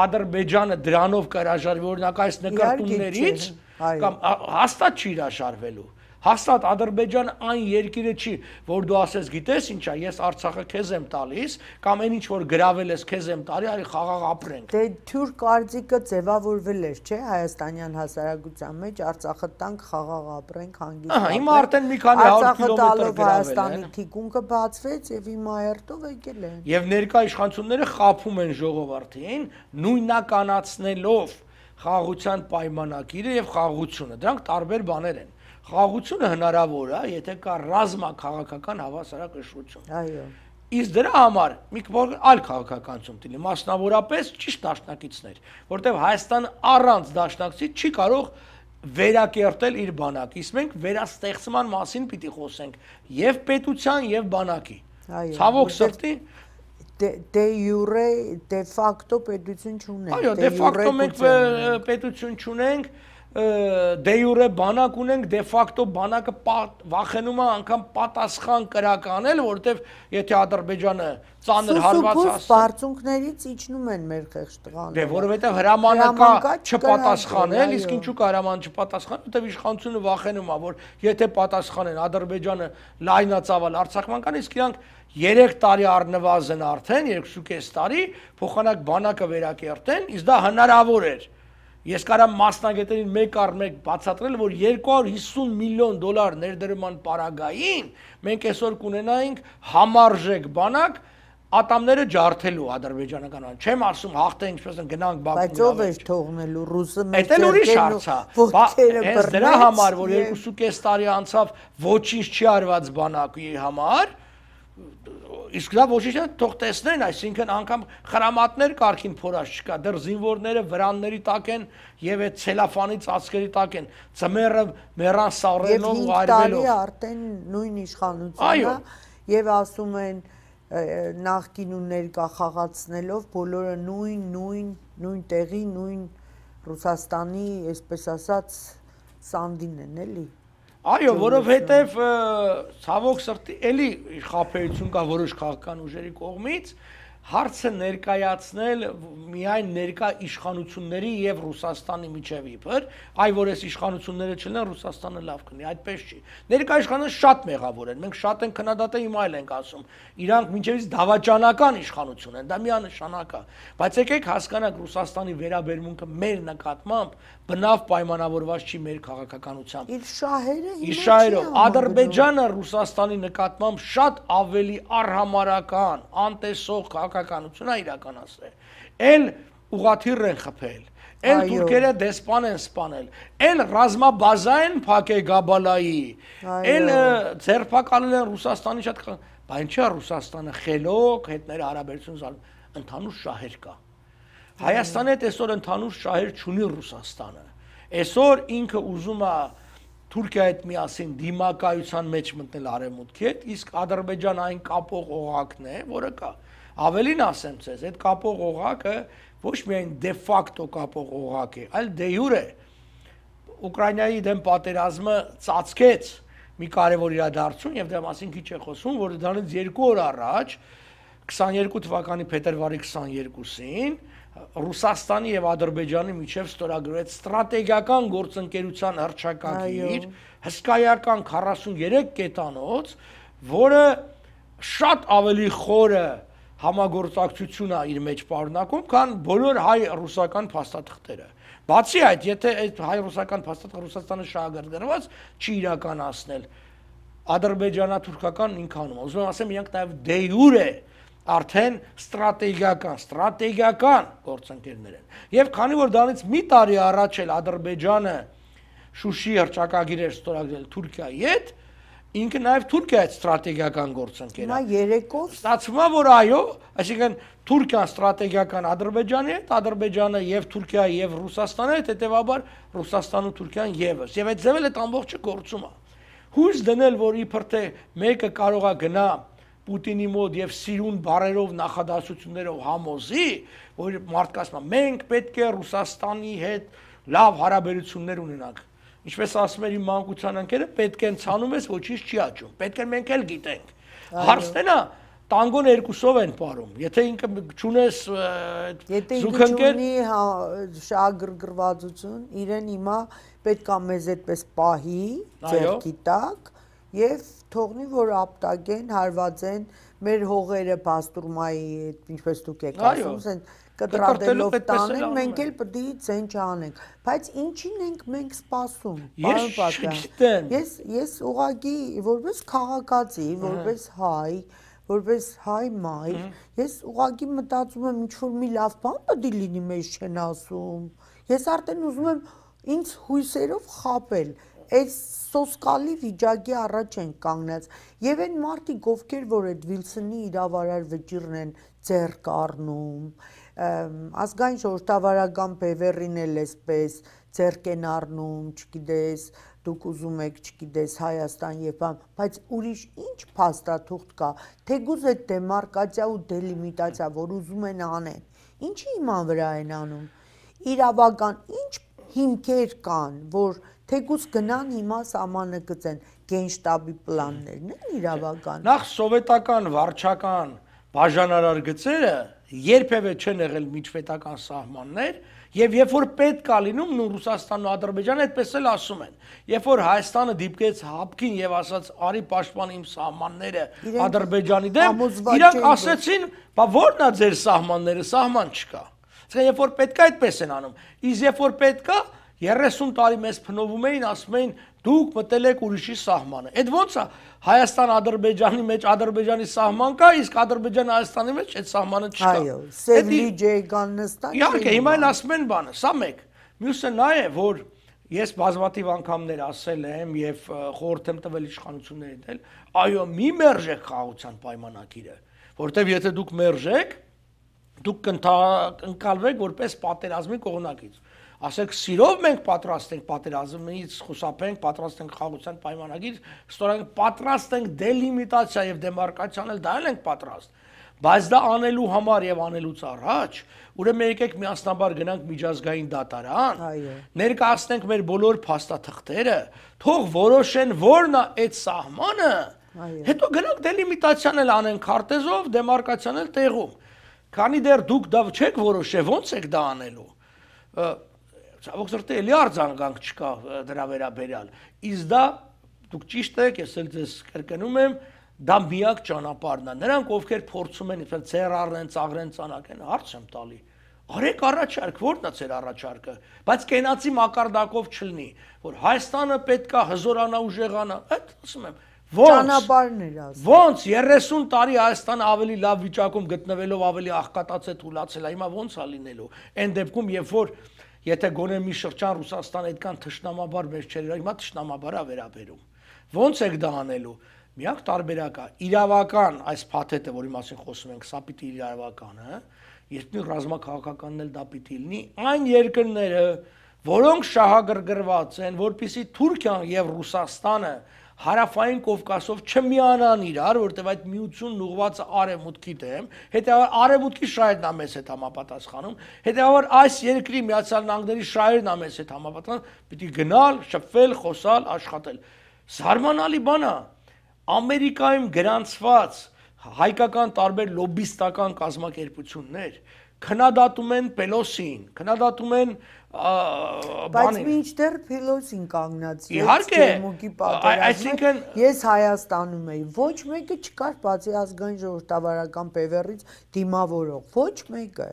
Ադրբեջանը դրանով կհրաժարվի օրինակ այս նկարտումներից կամ հաստատ չի հրաժարվելու։ Հաստատ Ադրբեջանը այն երկիրը չի, որ դու ասես գիտես ինչա, ես Արցախը քեզ եմ տալիս, կամ այն ինչ որ գրավել ես քեզ եմ տալի, արի խաղաղ ապրենք։ Դե թյուր կարծիքը ձևավորվել էր, չէ, հայաստանյան հասարակության մեջ Արցախը տանք խաղաղ ապրենք, հանգիստ։ Հիմա արդեն մի քանի 100 կիլոմետր գրավել են։ Հայաստանի թիկունքը բացվեց եւ հիմա երթով եկել են։ Եվ ներկա իշխանությունները խափում են ժողովրդին, նույնականացնելով խաղաղության պայմանագիրը եւ խաղաղությունը։ Դրանք տարբեր բաներ են։ Խաղաղությունը հնարավոր է, եթե կա ռազմաքաղաքական հավասարակշռություն։ Այո։ Իսկ դրա համար մի այլ քաղաքականություն տիլի, մասնավորապես ճիշտ դաշնակիցներ, որտեղ Հայաստանը առանց դաշնակցի չի կարող վերակերտել իր բանակը։ Իսկ մենք վերաստեղծման մասին պիտի խոսենք եւ պետության եւ բանակի։ Ցավոք սրտի դե յուրե դե ֆակտո պետություն չունենք։ Այո, դե ֆակտո մենք պետություն չունենք, դե յուրե բանակ ունենք, դե ֆակտո բանակը վախենում է անգամ պատասխան կրականել, որովհետև եթե Ադրբեջանը ծանր հարված հասցնի, բարձունքներից իջնում են մեր խեղճ տղաները։ Դե որովհետև հրամանը կա չպատասխանել, իսկ ինչու կա հրամանը չպատասխանել, որովհետև իշխանությունը վախենում է, որ եթե պատասխանեն Ադրբեջանը լայնածավալ արձակման կան, իսկ իրանք 3 տարի առնվազն արդեն 2.5 տարի փոխանակ բանակը վերակերտեն, իսկ դա հնարավոր էր։ Ես կարամ մասնագետերին մեկ առ մեկ բացատրել, որ $250 միլիոն ներդրման պարագային մենք այսօր կունենայինք համարժեք բանակ ատամները ջարդելու ադրբեջանական բան։ Չեմ ասում հաղթե ինչպես են գնանք Բաքու։ Բայց ով է թողնելու ռուսը մեծ դրա համար, որ 2.5 տարի անցավ ոչինչ չի արված բանակի համար, իսկ դա ոչինչ թող տեսնեն, այսինքն անգամ խրամատներ կարգին փորած չկա, դեռ զինվորները վրանների տակ են եւ այդ ցելոֆանի ծածկերի տակ են, ծմերը մեռան սառելով ու արվելով։ Եվ 5 տարի արդեն նույն իշխանությունը եւ ասում են նախկին ու ներկա խաղացնելով բոլորը նույն տեղի, նույն Ռուսաստանի, այսպես ասած, սանդին են, էլի։ Այո, որովհետև ցավոք սրտի էլի խաբեություն կա որոշ քաղաքական ուժերի կողմից, հարցը ներկայացնել միայն ներկա իշխանությունների եւ Ռուսաստանի միջև իբր, այ որ այս իշխանությունները չլինեն Ռուսաստանը լավ կնի, այդպես չի։ Ներկա իշխանությունները շատ մեղավոր են, մենք շատ են քննադատել, հիմա էլ ենք ասում, իրանք մինչեւից դավաճանական իշխանություն են, դա միանշանակ է, բայց եկեք հասկանանք Ռուսաստանի վերաբերմունքը մեր նկատմամբ բնավ պայմանավորված չի մեր քաղաքականությամբ։ Իր շահերը Իր շահերով Ադրբեջանը Ռուսաստանի նկատմամբ շատ ավելի արհամարական, անտեսող քաղաքականություն է իրականացրել։ Էլ ուղղաթիռ են խփել, էլ թուրքերը դեսպան են սպանել, էլ ռազմաբազա են փակել Գաբալայի, էլ ձերբակալել են Ռուսաստանի շատ, բայց ինչա Ռուսաստանը խելոք հետները հարաբերություն ընդհանուր շահեր կա։ Հայաստանի հետ այսօր ընդհանուր շահեր չունի Ռուսաստանը։ Այսօր ինքը ուզում է Թուրքիայի հետ միասին դիմակայության մեջ մտնել արևմուտքի հետ, իսկ Ադրբեջանը այն կապող օղակն է, որը կա։ Ավելին ասեմ ձեզ, այդ կապող օղակը ոչ միայն դե ֆակտո կապող օղակ է, այլ դե յուրե։ Ուկրաինայի դեմ պատերազմը ծածկեց մի կարևոր իրադարձություն եւ դրա մասին քիչ է խոսում, որ դրանից 2 օր առաջ 22 թվականի փետրվարի 22-ին Ռուսաստանի եւ Ադրբեջանի միջև ստորագրվեց ստրատեգիական գործընկերության հռչակագիր, հսկայական 43 կետանոց, որը շատ ավելի խորը համագործակցություն է իր մեջ պարունակում, քան բոլոր հայ-ռուսական փաստաթղթերը։ Բացի այդ, եթե այդ հայ-ռուսական փաստաթղթը Ռուսաստանը շահագրգռված չի իրականացնել, ադրբեջանա-թուրքական ինքանում, ուզում եմ ասեմ, իրանք նաև դե յուրե արդեն ստրատեգիական գործընկերներ են։ Եվ քանի որ դրանից մի տարի առաջ էլ Ադրբեջանը Շուշի հռչակագիր էր ստորագրել Թուրքիայի հետ, ինքը նաև Թուրքիայի ստրատեգիական գործընկեր է։ Հիմա երեկով ստացվում է, որ այո, այսինքն Թուրքիան ստրատեգիական Ադրբեջանի հետ, Ադրբեջանը եւ Թուրքիայի եւ Ռուսաստանի հետ, հետեւաբար Ռուսաստանը ու Թուրքիան եւս։ Եվ այդ ձևել այդ ամբողջը գործում է։ Հույս դնել, որ իբր թե մեկը կարող է գնա Պուտինի մոտ եւ սիրուն բարերով նախադասություններով համոզի, որ մարդկանց մենք պետք է Ռուսաստանի հետ լավ հարաբերություններ ունենանք։ Ինչպես ասում էր իմ մանկության ընկերը, պետք է ցանում ես, ոչինչ չի աճում։ Պետք է մենք էլ գիտենք։ Հարցն է, տանգոն երկուսով են պարում։ Եթե ինքը չունես զուգընկեր շահագրգռվածություն, իրեն հիմա պետք է մեզ այդպես պահի, ձեռքի տակ եւ թողնի, որ ապտակեն, հարվածեն մեր հողերը բաստուրմայի, ինչպես դուք եք ասում, ասեն կտրատելով տանեն, մենք էլ պետք է ցեն չանենք, բայց ինչին ենք մենք սպասում, պարոն Պատյան։ Ես ուղղակի որպես քաղաքացի, որպես հայ մայր, ես ուղղակի մտածում եմ, ինչ որ մի լավ բան պետք է լինի, մեզ չեն ասում։ Ես արդեն ուզում եմ ինձ հույսերով խաբել, այս սոսկալի վիճակի առաջ են կանգնած եւ այն մարդիկ, ովքեր որ այդ Վիլսոնի իրավարար վճիռն են ձեռք առնում, ազգային ժողովրդավարական բևեռին էլ էսպես ձեռք են առնում, չգիտես, դուք ուզում եք, չգիտես, Հայաստան եւ բան, բայց ուրիշ ինչ փաստաթուղթ կա, թեկուզ այդ դեմարկացիա ու դելիմիտացիա, որ ուզում են անեն, ինչի իման վրա են անում, իրավական ինչ հիմքեր կան, որ թեկուզ գնան հիմա սահմանը գծեն, գենշտաբի պլաններն են իրավական։ Նախ սովետական վարչական բաժանարար գծերը երբևէ չեն եղել միջպետական սահմաններ, եւ երբ որ պետք է լինում, նույն Ռուսաստանն ու Ադրբեջանը այդպես էլ ասում են։ Երբ որ Հայաստանը դիպկեց հապկին եւ ասաց՝ «Արի պաշտպան իմ սահմանները Ադրբեջանի դեմ», իրանք ասեցին՝ «Բա ո՞րն է ձեր սահմանները, սահման չկա»։ Այսինքն երբ որ պետք է այդպես են անում, իսկ երբ որ պետք է 30 տարի մեզ փնովում էին, ասում էին դուք մտել եք ուրիշի սահմանը։ Այդ ո՞նց է Հայաստան-Ադրբեջանի մեջ Ադրբեջանի սահման կա, իսկ Ադրբեջան-Հայաստանի մեջ այդ սահմանը չկա։ Այո, Սևլիջե կան նստան։ Իհարկե, հիմա են ասում են բանը, սա մեկ։ Մյուսը նա է, որ ես բազմաթիվ անգամներ ասել եմ եւ խորհուրդ եմ տվել իշխանություններին դել, այո, մի մերժեք խաղաղության պայմանագիրը, որտեվ եթե դուք մերժեք, դուք կընկալվեք որպես պատերազմի կողմնակից։ Ասեք սիրով մենք պատրաստ ենք պատերազմից խուսափենք, պատրաստ ենք խաղաղության պայմանագիր, ստորենք պատրաստ ենք դելիմիտացիա եւ դեմարկացիան էլ դա ենք պատրաստ։ Բայց դա անելու համար եւ անելուց առաջ, ուրեմն եկեք միասնաբար գնանք միջազգային դատարան, ներկայացնենք մեր բոլոր փաստաթղթերը, թող որոշեն որն է այդ սահմանը, հետո գնանք դելիմիտացիան էլ անենք քարտեզով, դեմարկացիան էլ տեղում։ Քանի դեռ դուք դա չեք որոշել, ո՞նց եք դա անելու։ Ցավոք սրտի էլի արձագանք չկա դրա վերաբերյալ։ Իսկ դա դուք ճիշտ եք, ես էլ ձեզ կրկնում եմ, դա միակ ճանապարհն է։ Նրանք ովքեր փորձում են, իբր ցերարեն, ծաղրեն, ցանակեն, հարց եմ տալի։ Արեք առաջարկ, ո՞րն է ձեր առաջարկը, բայց կենացի մակարդակով չլինի, որ Հայաստանը պետքա հզորանա ուժեղանա։ Այդ ասում եմ, ճանապարհներ ասում։ Ոնց 30 տարի Հայաստանը ավելի լավ վիճակում գտնվելով ավելի աղքատած է թուլացել, հիմա ոնց է լինելու։ Այն դեպքում, երբ որ եթե գոնե մի շրջան Ռուսաստանը այդքան թշնամաբար մեր չէր, հիմա թշնամաբար է վերաբերում։ Ոնց եք դա անելու։ Միակ տարբերակը իրավական այս փաթեթը, որի մասին խոսում ենք, սա պիտի իրավական է, երկրի ռազմաքաղաքականն էլ դա պիտի լինի, այն երկրները, որոնք շահագրգռված են, որպեսզի Թուրքիան եւ Ռուսաստանը հարավային Կովկասով չմիանան իրար, որտեղ այդ միությունն ուղղված է արևմուտքի դեմ, հետեւաբար արևմուտքի շահերն է մեզ հետ համապատասխանում, հետեւաբար այս երկրի Միացյալ Նահանգների շահերն է մեզ հետ համապատասխանում, պիտի գնալ, շփվել, խոսալ, աշխատել։ Զարմանալի բան է, Ամերիկայում գրանցված հայկական տարբեր լոբիստական կազմակերպություններ քննադատում են Պելոսին, քննադատում են բայց մինչդեռ Պելոսին կանգնած իհարկե այսինքն ես Հայաստանում էի ոչ մեկը չկար բացի ազգային ժողովրդավարական բևեռից դիմավորող ոչ մեկը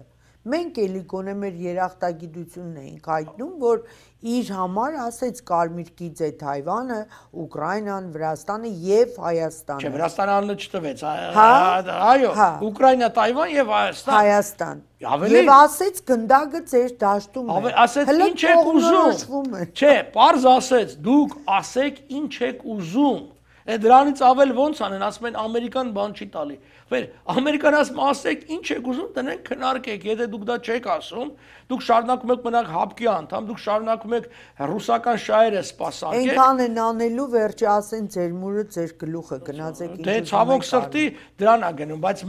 մենք էլի գոնե մեր երախտագիտությունն էինք հայտնում որ իր համար ասեց կարմիր գիծ է Թայվանը, Ուկրաինան, Վրաստանը եւ Հայաստանը։ Չէ, Վրաստանը անունը չտվեց, այո, Ուկրաինա, Թայվան եւ Հայաստան։ Եվ ասեց գնդակը ձեր դաշտում է։ Ասեց ինչ եք ուզում։ Չէ, պարզ ասեց, դուք ասեք ինչ եք ուզում։ Դրանից ավել ոնց անեն, ասում են ամերիկան բան չի տալի։ Վեր ամերիկան ասում ասեք ինչ եք ուզում, տնենք քննարկեք, եթե դուք դա չեք ասում, դուք շարունակում եք մնալ հապկի անդամ, դուք շարունակում եք ռուսական շահերը սպասարկել։ Այնքան են անելու վերջը ասեն ձեր մուրը, ձեր գլուխը գնացեք ինչ։ Դե ցավոք սրտի դրան է գնում, բայց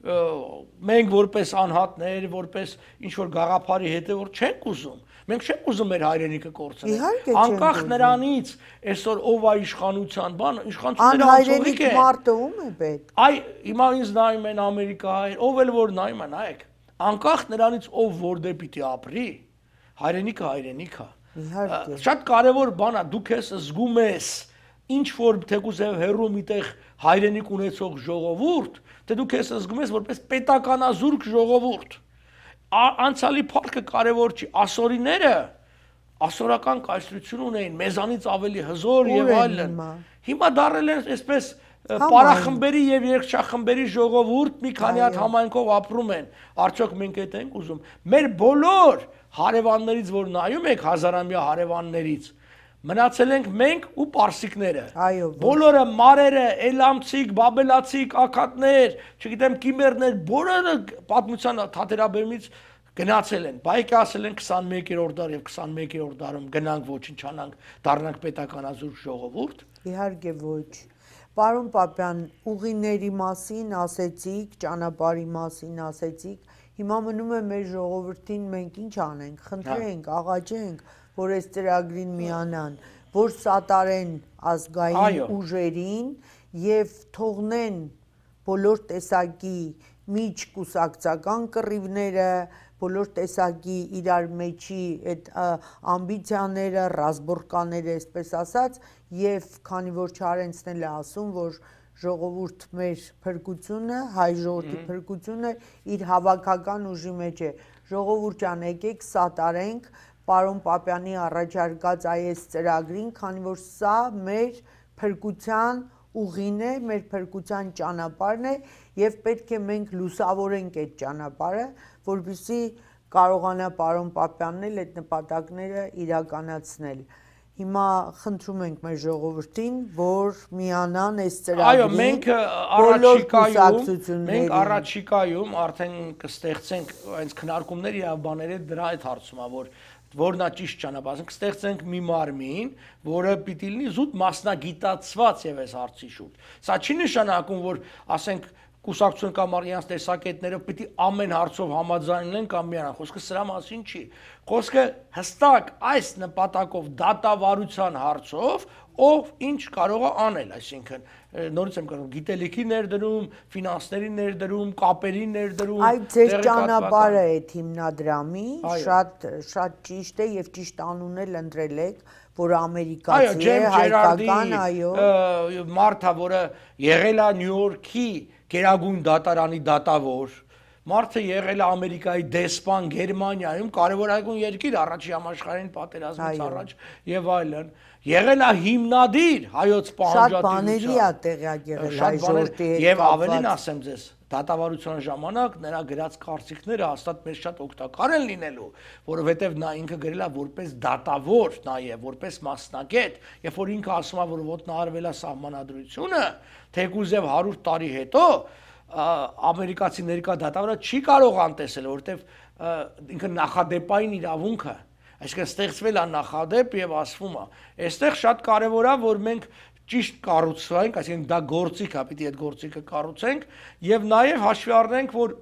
մենք որպես անհատներ, որպես ինչ որ գաղափարի հետևորդ չենք ուզում։ Մենք չենք ուզում մեր հայրենիքը կորցնել։ Անկախ նրանից, այսօր ով է իշխանության բան, իշխանությունները անհայրենիք մարդը ում է պետք։ Այ հիմա ինձ նայում են Ամերիկայից, ով էլ որ նայում է, նայեք։ Անկախ նրանից ով որտե պիտի ապրի, հայրենիքը հայրենիք է։ Իհարկե։ Շատ կարևոր բան է, դու քեզ զգում ես ինչ որ թեկուզ հերո միտեղ հայրենիք ունեցող ժողովուրդ, թե դու քեզ զգում ես որպես պետականազուրկ ժողովուրդ։ Անցյալի փառքը կարևոր չի, ասորիները ասորական կայսրություն ունեին, մեզանից ավելի հզոր եւ այլն։ Հիմա դարել են այսպես պարախմբերի եւ երգչախմբերի ժողովուրդ, մի քանի հատ համայնքով ապրում են։ Արդյոք մենք այդ ենք ուզում։ Մեր բոլոր հարևաններից, որ նայում եք հազարամյա հարևաններից, մնացել ենք մենք ու պարսիկները։ Բոլորը մարերը, էլամցիկ, բաբելացիկ, ակադներ, չգիտեմ կիմերներ, բոլորը պատմության թատերաբեմից գնացել են։ Բայկը ասել են 21-րդ դար եւ 21-րդ դարում գնանք ոչնչանանք, դառնանք պետականազուրկ ժողովուրդ։ Իհարկե ոչ։ Պարոն Պապյան, ուղիների մասին ասեցիք, ճանապարհի մասին ասեցիք, հիմա մնում է մեր ժողովրդին մենք ինչ անենք, խնդրենք, աղաչենք որ այս ծրագրին միանան, որ սատարեն ազգային ուժերին եւ թողնեն բոլոր տեսակի միջ կուսակցական կռիվները, բոլոր տեսակի իրար մեջի այդ ամբիցիաները, ռազմորկաները, այսպես ասած, եւ քանի որ Չարենցն է ասում, որ ժողովուրդ մեր փրկությունը, հայ ժողովրդի փրկությունը իր հավաքական ուժի մեջ է։ Ժողովուրդ ջան, եկեք սատարենք Պարոն Պապյանի առաջարկած այս ծրագրին, քանի որ սա մեր փրկության ուղին է, մեր փրկության ճանապարհն է եւ պետք է մենք լուսավորենք այդ ճանապարհը, որպեսզի կարողանա Պարոն Պապյանն էլ այդ նպատակները իրականացնել։ Հիմա խնդրում ենք մեր ժողովրդին, որ միանան այս ծրագրին։ Այո, մենք առաջիկայում արդեն կստեղծենք այս քննարկումների եւ բաները դրա այդ հարցում է, որն է ճիշտ ճանապարհը, կստեղծենք մի մարմին, որը պիտի լինի զուտ մասնագիտացված եւ այս հարցի շուրջ։ Սա չի նշանակում, որ ասենք կուսակցություն կամ իրենց տեսակետները պիտի ամեն հարցով համաձայնեն կամ միանան։ Խոսքը սրա մասին չի։ Խոսքը հստակ այս նպատակով դատավարության հարցով ով ինչ կարող է անել, այսինքն նորից եմ կարող գիտելիքի ներդրում, ֆինանսների ներդրում, կապերի ներդրում։ Այդ ձեր ճանապարհը է հիմնադրամի, շատ ճիշտ է եւ ճիշտ անուն էլ ընտրել եք, որ ամերիկացի է, հայկական, այո։ Մարդը, որը եղել է Նյու Յորքի Գերագույն դատարանի դատավոր, մարդը եղել է Ամերիկայի դեսպան Գերմանիայում, կարևորագույն երկիր առաջի համաշխարհային պատերազմից առաջ եւ այլն, եղել է հիմնադիր հայոց պահանջատիրության։ Շատ բաների է տեղյակ եղել հայ ժողովրդի հետ։ Եվ ավելին ասեմ ձեզ, դատավարության ժամանակ նրա գրած կարծիքները հաստատ մեզ շատ օգտակար են լինելու, որովհետև նա ինքը գրել է որպես դատավոր նաև, որպես մասնագետ, երբ որ ինքը ասում է, որ ոտնահարվել է սահմանադրությունը, թեկուզ եւ 100 տարի հետո ամերիկացի ներկա դատավորը չի կարող անտեսել, որովհետև ինքը նախադեպային իրավունք է, այսինքն ստեղծվել է նախադեպ եւ ասվում է։ Այստեղ շատ կարեւոր է, որ մենք ճիշտ կառուցենք, այսինքն դա գործիք է, պիտի այդ գործիքը կառուցենք եւ նաեւ հաշվի առնենք, որ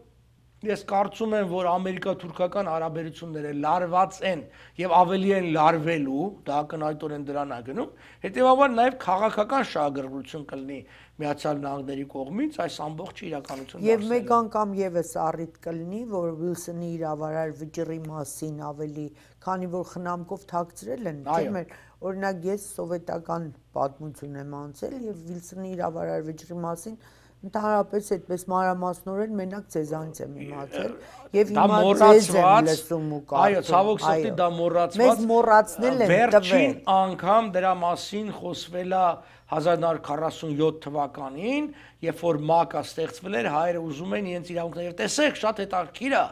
Ես կարծում եմ, որ ամերիկա-թուրքական հարաբերությունները լարված են եւ ավելի են լարվելու, դա ակնհայտորեն դրան է գնում, հետեւաբար նաեւ քաղաքական շահագրգռություն կլինի Միացյալ Նահանգների կողմից այս ամբողջ իրականությունը։ Եվ մեկ անգամ եւս առիթ կլինի, որ Վիլսոնի իրավարար վճռի մասին ավելի, քանի որ խնամքով թաքցրել են, չէ՞, օրինակ ես սովետական պատմություն եմ անցել եւ Վիլսոնի իրավարար վճռի մասին ընդհանրապես այդպես մանրամասնորեն մենակ ցեզանից եմ իմացել եւ հիմա ցեզ եմ լսում ու կարծում։ Այո, ցավոք սրտի դա մոռացված։ Մեզ մոռացնել են տվել։ Վերջին անգամ դրա մասին խոսվել է 1947 թվականին, երբ որ ՄԱԿ-ը ստեղծվել էր, հայերը ուզում են իրենց իրավունքները, եւ տեսեք, շատ հետաքրքիր է։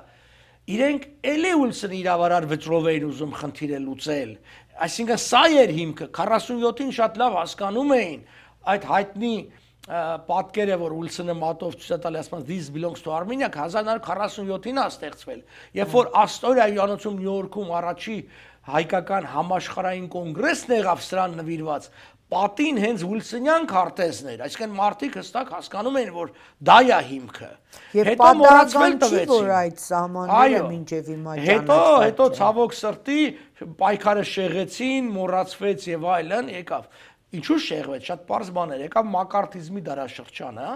Իրենք էլի Ուիլսոնի իրավարար վճռով էին ուզում խնդիրը լուծել։ Այսինքն սա էր հիմքը, 47-ին շատ լավ հասկանում էին այդ հայտնի պատկերը, որ Ուիլսոնը մատով ցույց է տալի, ասում this belongs to Armenia 1947-ին է ստեղծվել, երբ որ Աստորիայի հյուրանոցում Նյու Յորքում առաջի հայկական համաշխարհային կոնգրեսն եղավ սրան նվիրված, պատին հենց Ուիլսոնյան քարտեզն էր, այսինքն մարդիկ հստակ հասկանում էին, որ դա է հիմքը։ Հետո մոռացվել տվեցին, որ այդ սահմանները մինչև հիմա ճանաչված։ Հետո ցավոք սրտի պայքարը շեղեցին, մոռացվեց եւ այլն, եկավ։ Ինչու շեղվեց, շատ պարզ բան էր, եկավ մակարթիզմի դարաշրջանը,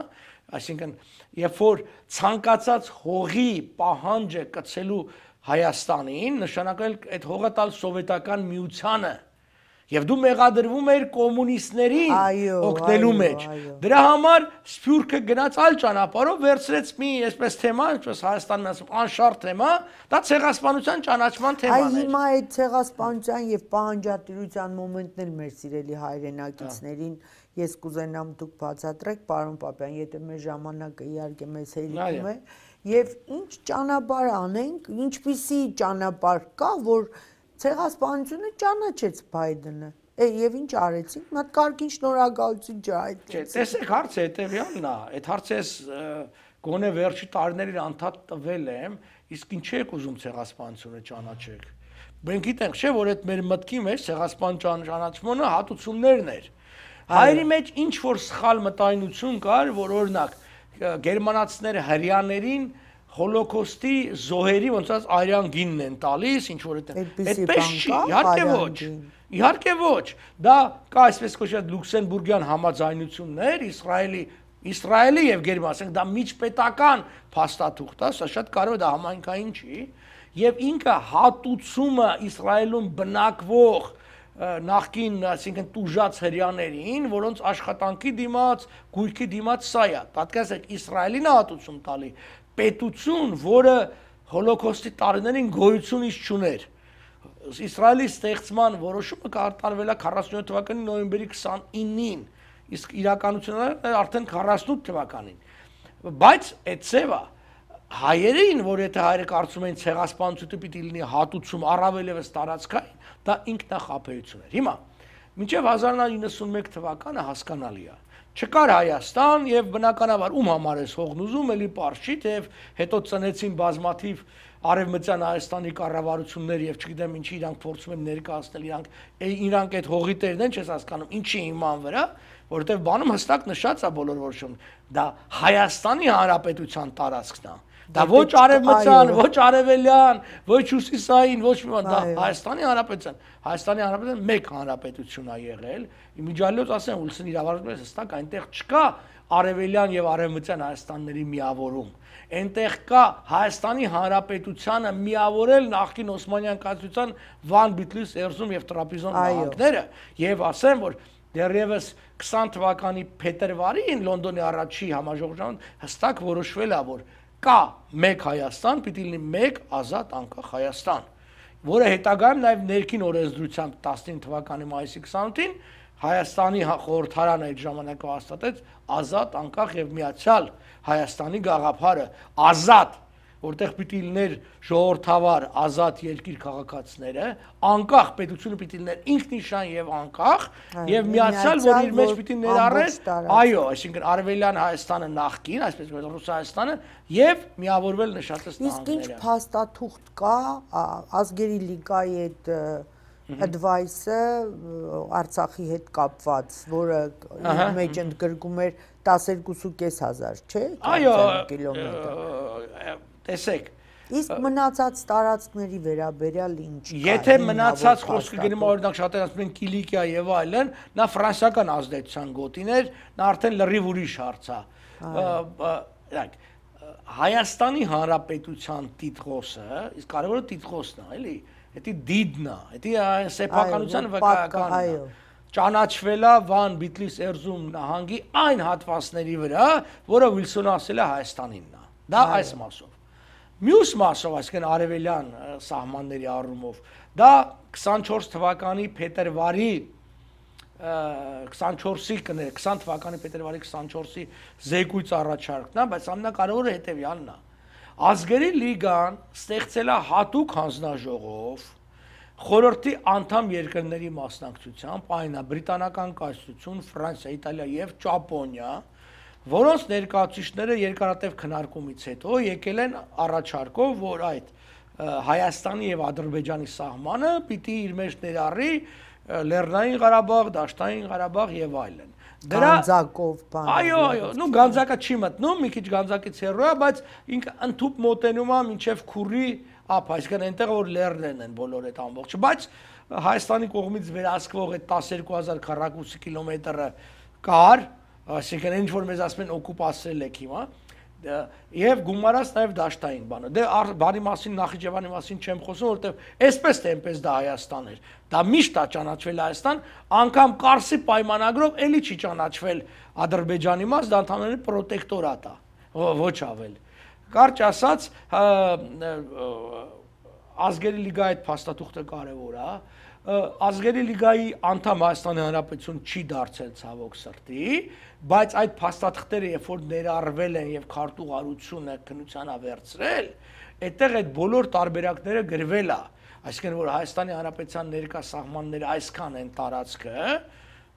այսինքն երբ որ ցանկացած հողի պահանջը կցելու Հայաստանին, նշանակել այդ հողը տալ սովետական միությանը, եւ դու մեղադրվում էր կոմունիստներին օգնելու մեջ։ Դրա համար Սփյուռքը գնաց այլ ճանապարհով, վերցրեց մի այսպես թեմա, ինչպես Հայաստանն ասում, անշարժ թեմա, դա ցեղասպանության ճանաչման թեման էր։ Այ հիմա այդ ցեղասպանության եւ պահանջատիրության մոմենտն էլ մեր սիրելի հայրենակիցներին ես կուզենամ դուք բացատրեք, պարոն Պապյան, եթե մեր ժամանակը իհարկե մեզ հերիքում է, եւ ինչ ճանապարհ անենք, ինչպիսի ճանապարհ կա, որ ցեղասպանությունը ճանաչեց Բայդենը, եւ ինչ արեցին, մի հատ կարգին շնորհակալություն չհայտեցին։ Տեսեք, հարցը հետեւյալն է, այդ հարցը ես գոնե վերջի տարիներին անդադ տվել եմ, իսկ ինչ եք ուզում ցեղասպանությունը ճանաչեք։ Մենք գիտենք, չէ՞, որ այդ մեր մտքի մեջ ցեղասպան ճանաչմանը հատուցումներն էր։ Հայերի մեջ ինչ որ սխալ մտայնություն կար, որ օրինակ գերմանացիները հрьяաներին Հոլոկոստի զոհերի ոնց ասած արյան գինն են տալիս, ինչ որ այդպես չի, իհարկե ոչ։ Իհարկե ոչ։ Դա կա այսպես կոչված լյուքսեմբուրգյան համաձայնություններ, Իսրայելի եւ Գերմանիա, դա միջպետական փաստաթուղթ է, սա շատ կարևոր է, դա համայնքային չի, եւ ինքը հատուցումը Իսրայելում բնակվող նախկին, այսինքն տուժած հрьяաներին, որոնց աշխատանքի դիմաց, գույքի դիմաց սա է։ Պատկերացրեք, Իսրայելին է հատուցում տալի պետություն, որը հոլոկոստի տարիներին գոյությունից չուներ։ Իսրայելի ստեղծման որոշումը կատարվել է 47 թվականի նոյեմբերի 29-ին, իսկ իրականությունը արդեն 48 թվականին։ Բայց այդ ծևը հայերին, որ եթե հայերը կարծում են ցեղասպանությունը պիտի լինի հատուցում առավել եւս տարածքային, դա ինքնախապեյություն էր։ Հիմա մինչև 1991 թվականը հասկանալի է։ Չկար Հայաստան եւ բնականաբար ում համար էս հողն ուզում, էլի պարզ չի, թեև հետո ծնեցին բազմաթիվ արևմտյան Հայաստանի կառավարություններ եւ չգիտեմ ինչի իրանք փորձում են ներկայացնել, իրանք այդ հողի տերն են, չես հասկանում, ինչի հիման վրա, որովհետեւ բանում հստակ նշած է բոլոր որոշում, դա Հայաստանի Հանրապետության տարածքն է։ Դա ոչ արևմտյան, ոչ արևելյան, ոչ հյուսիսային, ոչ մի բան, դա Հայաստանի Հանրապետության։ Հայաստանի Հանրապետության մեկ հանրապետություն է եղել։ Իմիջիալոց ասեմ, Ուիլսոնի իրավարարությունը հստակ այնտեղ չկա արևելյան եւ արևմտյան Հայաստանների միավորում։ Այնտեղ կա Հայաստանի Հանրապետությանը միավորել նախկին Օսմանյան կայսրության Վան, Բիթլիս, Էրզրում եւ Տրապիզոն նահանգները, եւ ասեմ, որ դեռևս 20 թվականի փետրվարին Լոնդոնի առաջի համաժողովում հստակ որոշվել է, որ կա մեկ Հայաստան, պիտի լինի մեկ ազատ անկախ Հայաստան, որը հետագայում նաև ներքին օրենսդրությամբ 19 թվականի մայիսի 28-ին Հայաստանի խորհրդարանը այդ ժամանակը հաստատեց ազատ անկախ եւ միացյալ Հայաստանի գաղափարը, ազատ, որտեղ պիտի լիներ ժողովրդավար ազատ երկիր քաղաքացիները, անկախ պետությունը պիտի լիներ ինքնիշխան եւ անկախ եւ միացյալ, որ իր մեջ պիտի ներառեր, այո, այսինքն արևելյան Հայաստանը նախկին, այսպես որ Ռուս Հայաստանը եւ միավորվել նշածս նահանգները։ Իսկ ինչ փաստաթուղթ կա ազգերի լիգայի այդ advice-ը Արցախի հետ կապված, որը իր մեջ ընդգրկում էր 12,500, չէ՞, այո, կիլոմետր։ տեսեք, իսկ մնացած տարածքների վերաբերյալ ինչ կա։ Եթե մնացած խոսքը գնում օրինակ շատերը ասում են Կիլիկիա եւ այլն, նա ֆրանսիական ազդեցության գոտին էր, նա արդեն լրիվ ուրիշ հարց է։ Հայաստանի Հանրապետության տիտղոսը, իսկ կարևորը տիտղոսն է, էլի, դա դիդն է, դա սեփականության վկայականն է։ Ճանաչվել է Վան Բիթլիս Էրզրում նահանգի այն հատվածների վրա, որը Վիլսոնը ասել է Հայաստանինն է։ Դա այս մասով։ Մյուս մասով, այսինքն արևելյան սահմանների առումով, դա 24 թվականի փետրվարի 24-ի կներ, 20 թվականի փետրվարի 24-ի զեկույց առաջարկն է, բայց ամենակարևորը հետևյալն է։ Ազգերի լիգան ստեղծել է հատուկ հանձնաժողով խորհրդի անդամ երկրների մասնակցությամբ, այն է Բրիտանական կայսրություն, Ֆրանսիա, Իտալիա եւ Ճապոնիա, որոնց ներկայացուցիչները երկարատև քննարկումից հետո եկել են առաջարկով, որ այդ Հայաստանի եւ Ադրբեջանի սահմանը պիտի իր մեջ ներառի Լեռնային Ղարաբաղ, Դաշտային Ղարաբաղ եւ այլն։ Գանձակով բան։ Այո, նու գանձակը չի մտնում, մի քիչ գանձակից հեռու է, բայց ինքը ընդཐུպ մոտենում է մինչեւ Քուրի ափ, այսինքն այնտեղ որ լեռներն են բոլոր այդ ամբողջը, բայց Հայաստանի կողմից վերահսկվող այդ 12000 քառակուսի կիլոմետրը կար, այսինքն ինչ որ մեզ ասում են օկուպացրել եք հիմա, եւ գումարած նաեւ դաշտային բանը։ Դե բարի մասին Նախիջևանի մասին չեմ խոսում, որովհետեւ այսպես թե այնպես դա Հայաստան էր։ Դա միշտ է ճանաչվել Հայաստան, անգամ Կարսի պայմանագրով էլի չի ճանաչվել Ադրբեջանի մաս, դա ընդհանրապես պրոտեկտորատ է, ոչ ավել։ Կարճ ասած, ազգերի լիգայի այդ փաստաթուղթը կարևոր է, ազգերի լիգայի անդամ Հայաստանի Հանրապետություն չի դարձել ցավոք սրտի, բայց այդ փաստաթղթերը երբ որ ներառվել են եւ քարտուղարությունը քննության վերցրել, այդտեղ այդ բոլոր տարբերակները գրվել է, այսինքն որ Հայաստանի Հանրապետության ներկա սահմանները այսքան են տարածքը,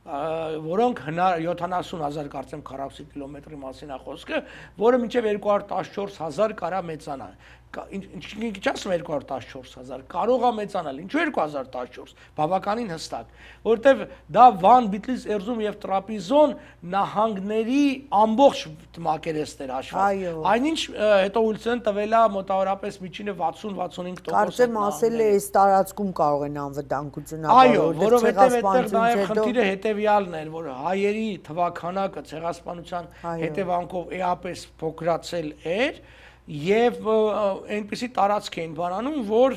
որոնք 70000 կարծեմ քառակուսի կիլոմետրի մասին է խոսքը, որը մինչև 214000 կարա մեծանա։ Ինչ ասում 214000 կարող է մեծանալ, ինչու 2014, բավականին հստակ, որովհետև դա Վան Բիթլիս Էրզրում եւ Տրապիզոն նահանգների ամբողջ մակերեսներ հաշվառ։ Այնինչ հետո Ուիլսոնը տվել է մոտավորապես միջինը 60-65%։ Կարծեմ ասել է այս տարածքում կարող են անվտանգություն ապահովել։ Այո, որովհետև այդտեղ նաեւ խնդիրը հետեւյալն էր, որ հայերի թվականակը ցեղասպանության հետևանքով էապես փոքրացել էր եւ այնպիսի տարածք էին բանանում, որ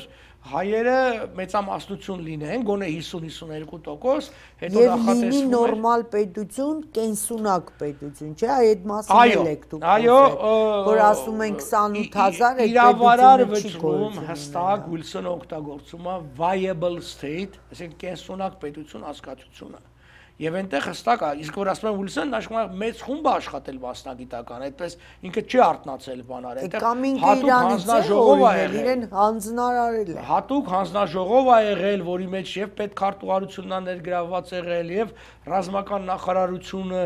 հայերը մեծամասնություն լինեն, գոնե 50-52%, հետո նախատեսվում էր լինի նորմալ պետություն, կենսունակ պետություն, չէ՞, այդ մասին էլ եք դուք որ ասում են 28000 այդ իրավարար վճռում հստակ Ուիլսոնը օգտագործում է viable state, այսինքն կենսունակ պետություն հասկացությունը։ Եվ այնտեղ հստակ է, իսկ որ ասում են Ուիլսոնն աշխարհ մեծ խումբ է աշխատել մասնագիտական, այդպես ինքը չի արտնացել բաներ, այնտեղ հատուկ հանձնաժողով է եղել, իրեն հանձնարարել է։ Հատուկ հանձնաժողով է եղել, որի մեջ եւ պետքարտուղարությունն է ներգրավված եղել, եւ ռազմական նախարարությունը,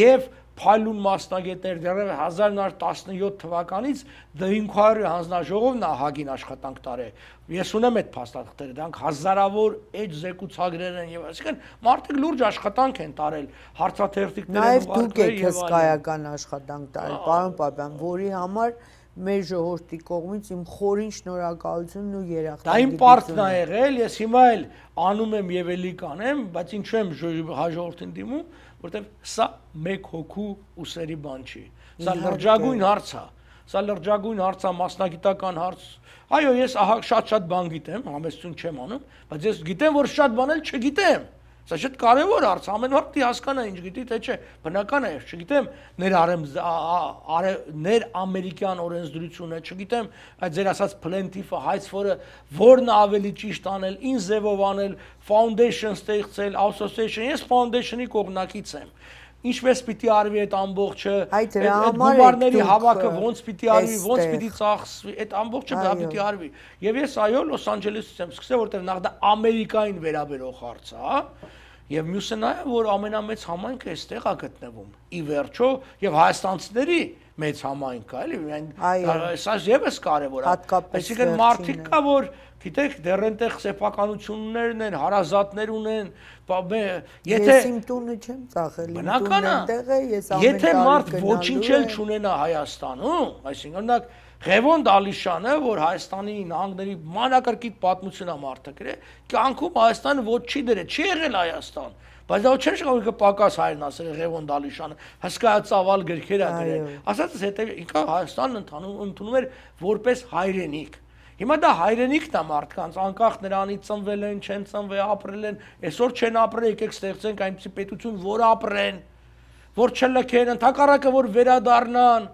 եւ փայլուն մասնագետներ դեռ 1917 թվականից D500 հանձնաժողովն է Հագին աշխատանք տարել։ Ես ունեմ այդ փաստաթղթերը, դրանք հազարավոր էջ զեկուցագրեր են եւ այսինքն մարդիկ լուրջ աշխատանք են տարել, հարցաթերթիկներ են ուղարկել եւ այլն։ Նաեւ դուք եք հսկայական աշխատանք տարել, պարոն Պապյան, որի համար մեր ժողովրդի կողմից իմ խորին շնորհակալությունն ու երախտագիտությունը։ Դա իմ պարտքն է եղել, ես հիմա էլ անում եմ եւ էլի կանեմ, բայց ինչու եմ հաջորդին դիմում, որտեվ սա մեկ հոգու ուսերի բան չի։ Սա լրջագույն հարց է։ Սա լրջագույն հարց է, մասնագիտական հարց։ Այո, ես ահա շատ բան գիտեմ, համեստություն չեմ անում, բայց ես գիտեմ, որ շատ բան էլ չգիտեմ։ Սա շատ կարևոր հարց, ամեն մարդ պիտի հասկանա ինչ գիտի, թե չէ, բնական է, չգիտեմ ներամերիկյան օրենսդրությունը, չգիտեմ այդ ձեր ասած plaintiff-ը, հայցվորը որն ավելի ճիշտ անել, ինչ ձևով անել, foundation ստեղծել, association, ես foundation-ի կողմնակից եմ։ Ինչպես պիտի արվի այդ ամբողջը, այդ գումարների հավաքը ոնց պիտի արվի, ոնց պիտի ծախսվի, այդ ամբողջը դա պիտի արվի։ Եվ ես այո Լոս Անջելեսից եմ սկսել, որտեղ նախ դա Ամերիկային վերաբերող հարց է, եւ մյուսը նա է, որ ամենամեծ համայնքը այստեղ է գտնվում։ Ի վերջո, եւ հայաստանցիների մեծ համայնք է, էլի, սա եւս կարեւոր է։ Այսինքն մարդիկ կա, որ գիտեք, դեռ այնտեղ սեփականություններն են, հարազատներ ունեն, եթե ես իմ տունը չեմ ծախել, իմ տունը այնտեղ է, ես ամեն տարի եթե մարդ ոչինչ էլ չունենա Հայաստանում, այսինքն օրինակ Ղևոն Դալիշյանը, որ Հայաստանի նահանգների մանրակրկիտ պատմություն է մարդը գրել, կյանքում Հայաստանը ոչ չի դրել, չի եղել Հայաստան։ Բայց դա չէ՞ շնորհիվ կպակաս հայրն ասել Ղևոն Դալիշյանը, հսկայածավալ գրքեր է գրել։ Ասածս հետո ինքը Հայաստանն ընդունում էր որպես հայրենիք։ Հիմա դա հայրենիքն է մարդկանց, անկախ նրանից ծնվել են, չեն ծնվել, ապրել են, այսօր չեն ապրել, եկեք ստեղծենք այնպիսի պետություն, որ ապրեն, որ չլքեն, ընդհակառակը որ վերադառնան։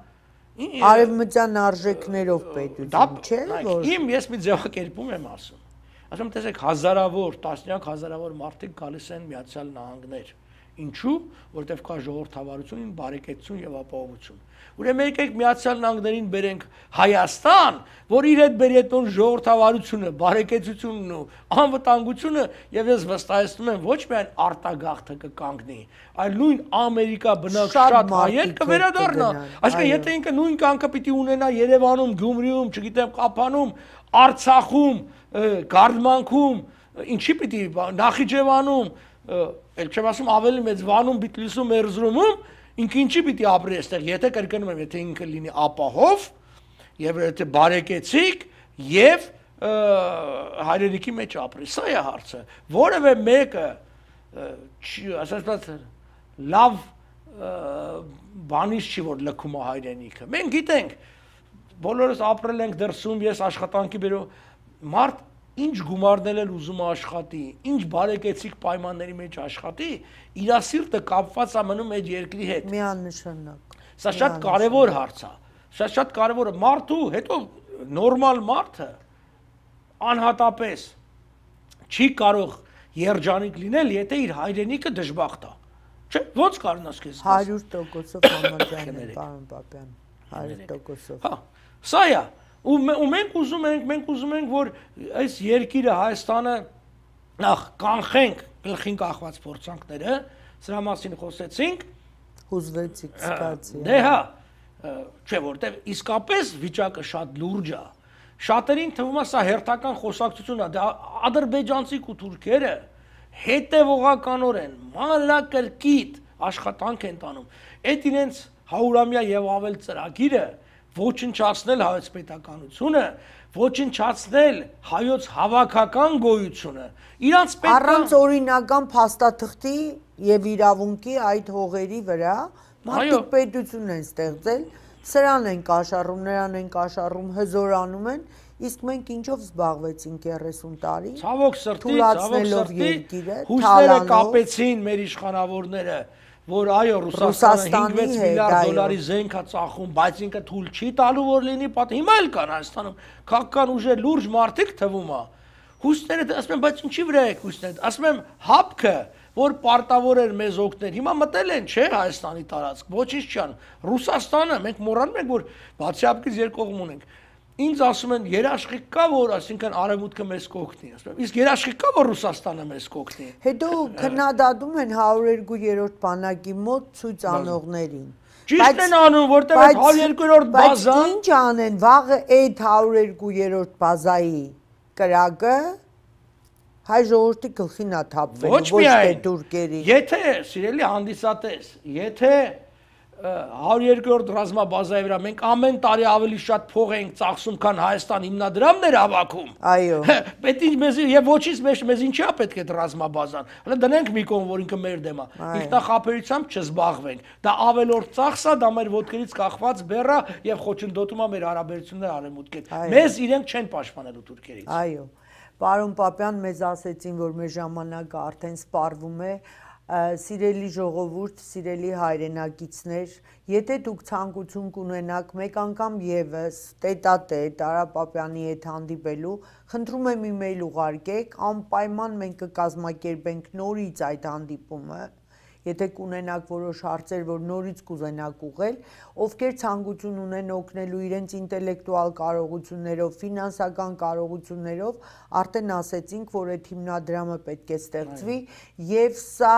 Արևմտյան արժեքներով պետություն, չէ՞ որ։ Ես մի ձևակերպում եմ ասում։ Ասում եմ, տեսեք, հազարավոր, տասնյակ հազարավոր մարդիկ գալիս են Միացյալ Նահանգներ։ Ինչու՞, որտեղ կա ժողովրդավարություն, բարեկեցություն եւ ապահովություն։ Ուրեմն եկեք Միացյալ Նահանգներին բերենք Հայաստան, որ իր հետ բերի այդ ժողովրդավարությունը, բարեկեցությունն ու անվտանգությունը, եւ ես վստահեցնում եմ, ոչ միայն արտագաղթը կկանգնի, այլ նույն Ամերիկա բնակ շատ հայեր կվերադառնա։ Այսինքն, եթե ինքը նույն կյանքը պիտի ունենա Երևանում, Գյումրիում, չգիտեմ, Ղափանում, Արցախում, Գարդմանքում, ինչի պիտի Նախիջևանում, ել չեմ ասում ավելի մեծ Վանում, Բիտլիսում, Էրզրումում, ինքը ինչի պիտի ապրի այստեղ, եթե կրկնում եմ, եթե ինքը լինի ապահով, եւ եթե բարեկեցիկ եւ հայրենիքի մեջ ապրի, սա է հարցը։ Որևէ մեկը ասած լավ բանից չի որ լքում է հայրենիքը։ Մենք գիտենք, բոլորս ապրել ենք դրսում, ես աշխատանքի բերում մարդ ինչ գումարներ էլ ուզում աշխատի, ինչ բարեկեցիկ պայմանների մեջ աշխատի, իր սիրտը կապված է մնում այդ երկրի հետ։ Միանշանակ։ Սա շատ կարևոր հարց է։ Սա շատ կարևոր է մարդու, հետո նորմալ մարդը անհատապես չի կարող երջանիկ լինել, եթե իր հայրենիքը դժբախտ է։ Չէ՞, ոնց կարողանաս քեզ 100%-ով համաձայն եմ, պարոն Պապյան, 100%-ով։ Հա, սա է։ Ու մենք ուզում ենք, որ այս երկիրը Հայաստանը նախ կանխենք գլխին կախված փորձանքները, սրա մասին խոսեցինք, հուզվեցիք, սկացի։ Դե հա, չէ, որտեվ իսկապես վիճակը շատ լուրջ է։ Շատերին թվում է սա հերթական խոսակցություն է, դա ադրբեջանցիք ու թուրքերը հետևողականորեն մանրակրկիտ աշխատանք են տանում։ Այդ իրենց 100-ամյա եւ ավել ծրագիրը ոչնչացնել հայոց պետականությունը, ոչնչացնել հայոց հավաքական գոյությունը, իրանց պետք է առանց օրինական փաստաթղթի եւ իրավունքի այդ հողերի վրա մարդիկ պետություն են ստեղծել, սրան են կաշառում, նրան են կաշառում, հզորանում են, իսկ մենք ինչով զբաղվեցինք 30 տարի։ Ցավոք սրտի, հույսները կապեցին մեր իշխանավորները, որ այո Ռուսաստանը 5-6 միլիարդ դոլարի զենք է ծախում, բայց ինքը թույլ չի տալու որ լինի պատ։ Հիմա էլ կան Հայաստանում քաղաքական ուժեր լուրջ մարդիկ թվում է։ Հույսները ասում են, բայց ինչի վրա եք հույսներ։ Ասում եմ հապկը, որ պարտավոր էր մեզ օգնել։ Հիմա մտել են, չէ, Հայաստանի տարածք, ոչինչ չան։ Ռուսաստանը մենք մոռանում ենք, որ բացի հապկից երկկողմ ունենք։ Ինձ ասում են երաշխիք կա որ, այսինքն արևմուտքը մեզ կօգնի, ասում եմ, իսկ երաշխիք կա որ Ռուսաստանը մեզ կօգնի։ Հետո քննադատում են 102-րդ բանակի մոտ ցույց անողներին։ Ճիշտ են անում, որտեղ 102-րդ բազան։ Բայց ինչ անեն, վաղը այդ 102-րդ բազայի կրակը հայ ժողովրդի գլխին է թափվելու, ոչ թե թուրքերի։ Եթե, սիրելի հանդիսատես, եթե 102-րդ ռազմաբազայի վրա մենք ամեն տարի ավելի շատ փող ենք ծախսում, քան Հայաստան հիմնադրամներ հավաքում։ Այո։ Պետք է մեզ եւ ոչինչ մեզ ինչի է պետք է ռազմաբազան։ Հələ դնենք մի կողմ, որ ինքը մեր դեմ է։ Ինքնախապերությամբ չզբաղվենք։ Դա ավելորդ ծախս է, դա մեր ոտքերից կախված բեռ է եւ խոչընդոտում է մեր հարաբերությունները արևմուտքի հետ։ Մեզ իրենք չեն պաշտպանելու թուրքերից։ Այո։ Պարոն Պապյան, մեզ ասեցին, որ մեր ժամանակը արդեն սպառվում է։ Սիրելի ժողովուրդ, սիրելի հայրենակիցներ, եթե դուք ցանկություն կունենաք մեկ անգամ եւս տետատետ Արա Պապյանի հետ հանդիպելու, խնդրում եմ email ուղարկեք, անպայման մենք կկազմակերպենք նորից այդ հանդիպումը, եթե կունենաք որոշ հարցեր, որ նորից կուզենաք ուղղել, ովքեր ցանկություն ունեն օգնելու իրենց ինտելեկտուալ կարողություններով, ֆինանսական կարողություններով, արդեն ասեցինք, որ այդ հիմնադրամը պետք է ստեղծվի եւ սա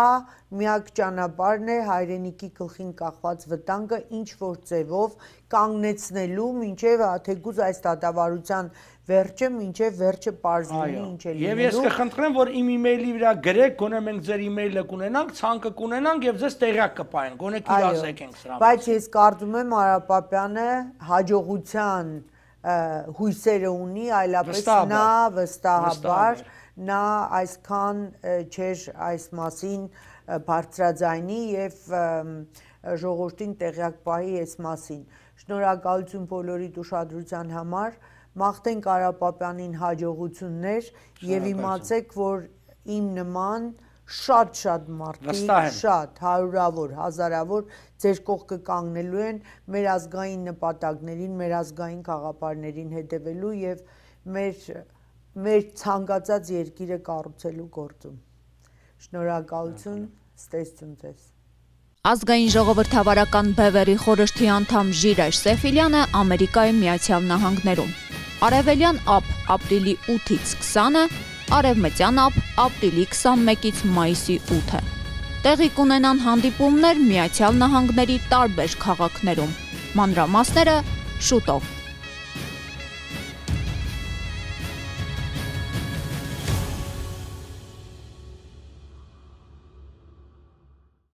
միակ ճանապարհն է հայրենիքի գլխին կախված վտանգը ինչ որ ձևով կանգնեցնելու մինչեւ թեկուզ այս դատավարության վերջը, մինչև վերջը պարզվի ինչ է լինելու։ Եվ ես կխնդրեմ, որ իմ email-ի վրա գրեք, գոնե մենք ձեր email-ը կունենանք, ցանկը կունենանք եւ ձեզ տեղյակ կպայենք, գոնե կիրասեք ենք սրա։ Բայց ես կարծում եմ Արա Պապյանը հաջողության հույսերը ունի, այլապես նա վստահաբար նա այսքան չէր այս մասին բարձրաձայնի եւ ժողովրդին տեղյակ պահի այս մասին։ Շնորհակալություն բոլորիդ ուշադրության համար, մաղթենք Արա Պապյանին հաջողություններ եւ իմացեք, որ իմ նման շատ մարդիկ, շատ հարյուրավոր, հազարավոր ձեր կողքը կանգնելու են մեր ազգային նպատակներին, մեր ազգային գաղափարներին հետևելու եւ մեր ցանկացած երկիրը կառուցելու գործում։ Շնորհակալություն, ստեսություն ձեզ։ Ազգային ժողովրդավարական բևեռի խորհրդի անդամ Ժիրայր Սեֆիլյանը Ամերիկայի Միացյալ Նահանգներում։ Արևելյան ափ ապրիլի 8-ից 20-ը, արևմտյան ափ ապրիլի 21-ից մայիսի 8-ը։ Տեղի կունենան հանդիպումներ Միացյալ Նահանգների տարբեր քաղաքներում։ Մանրամասները շուտով։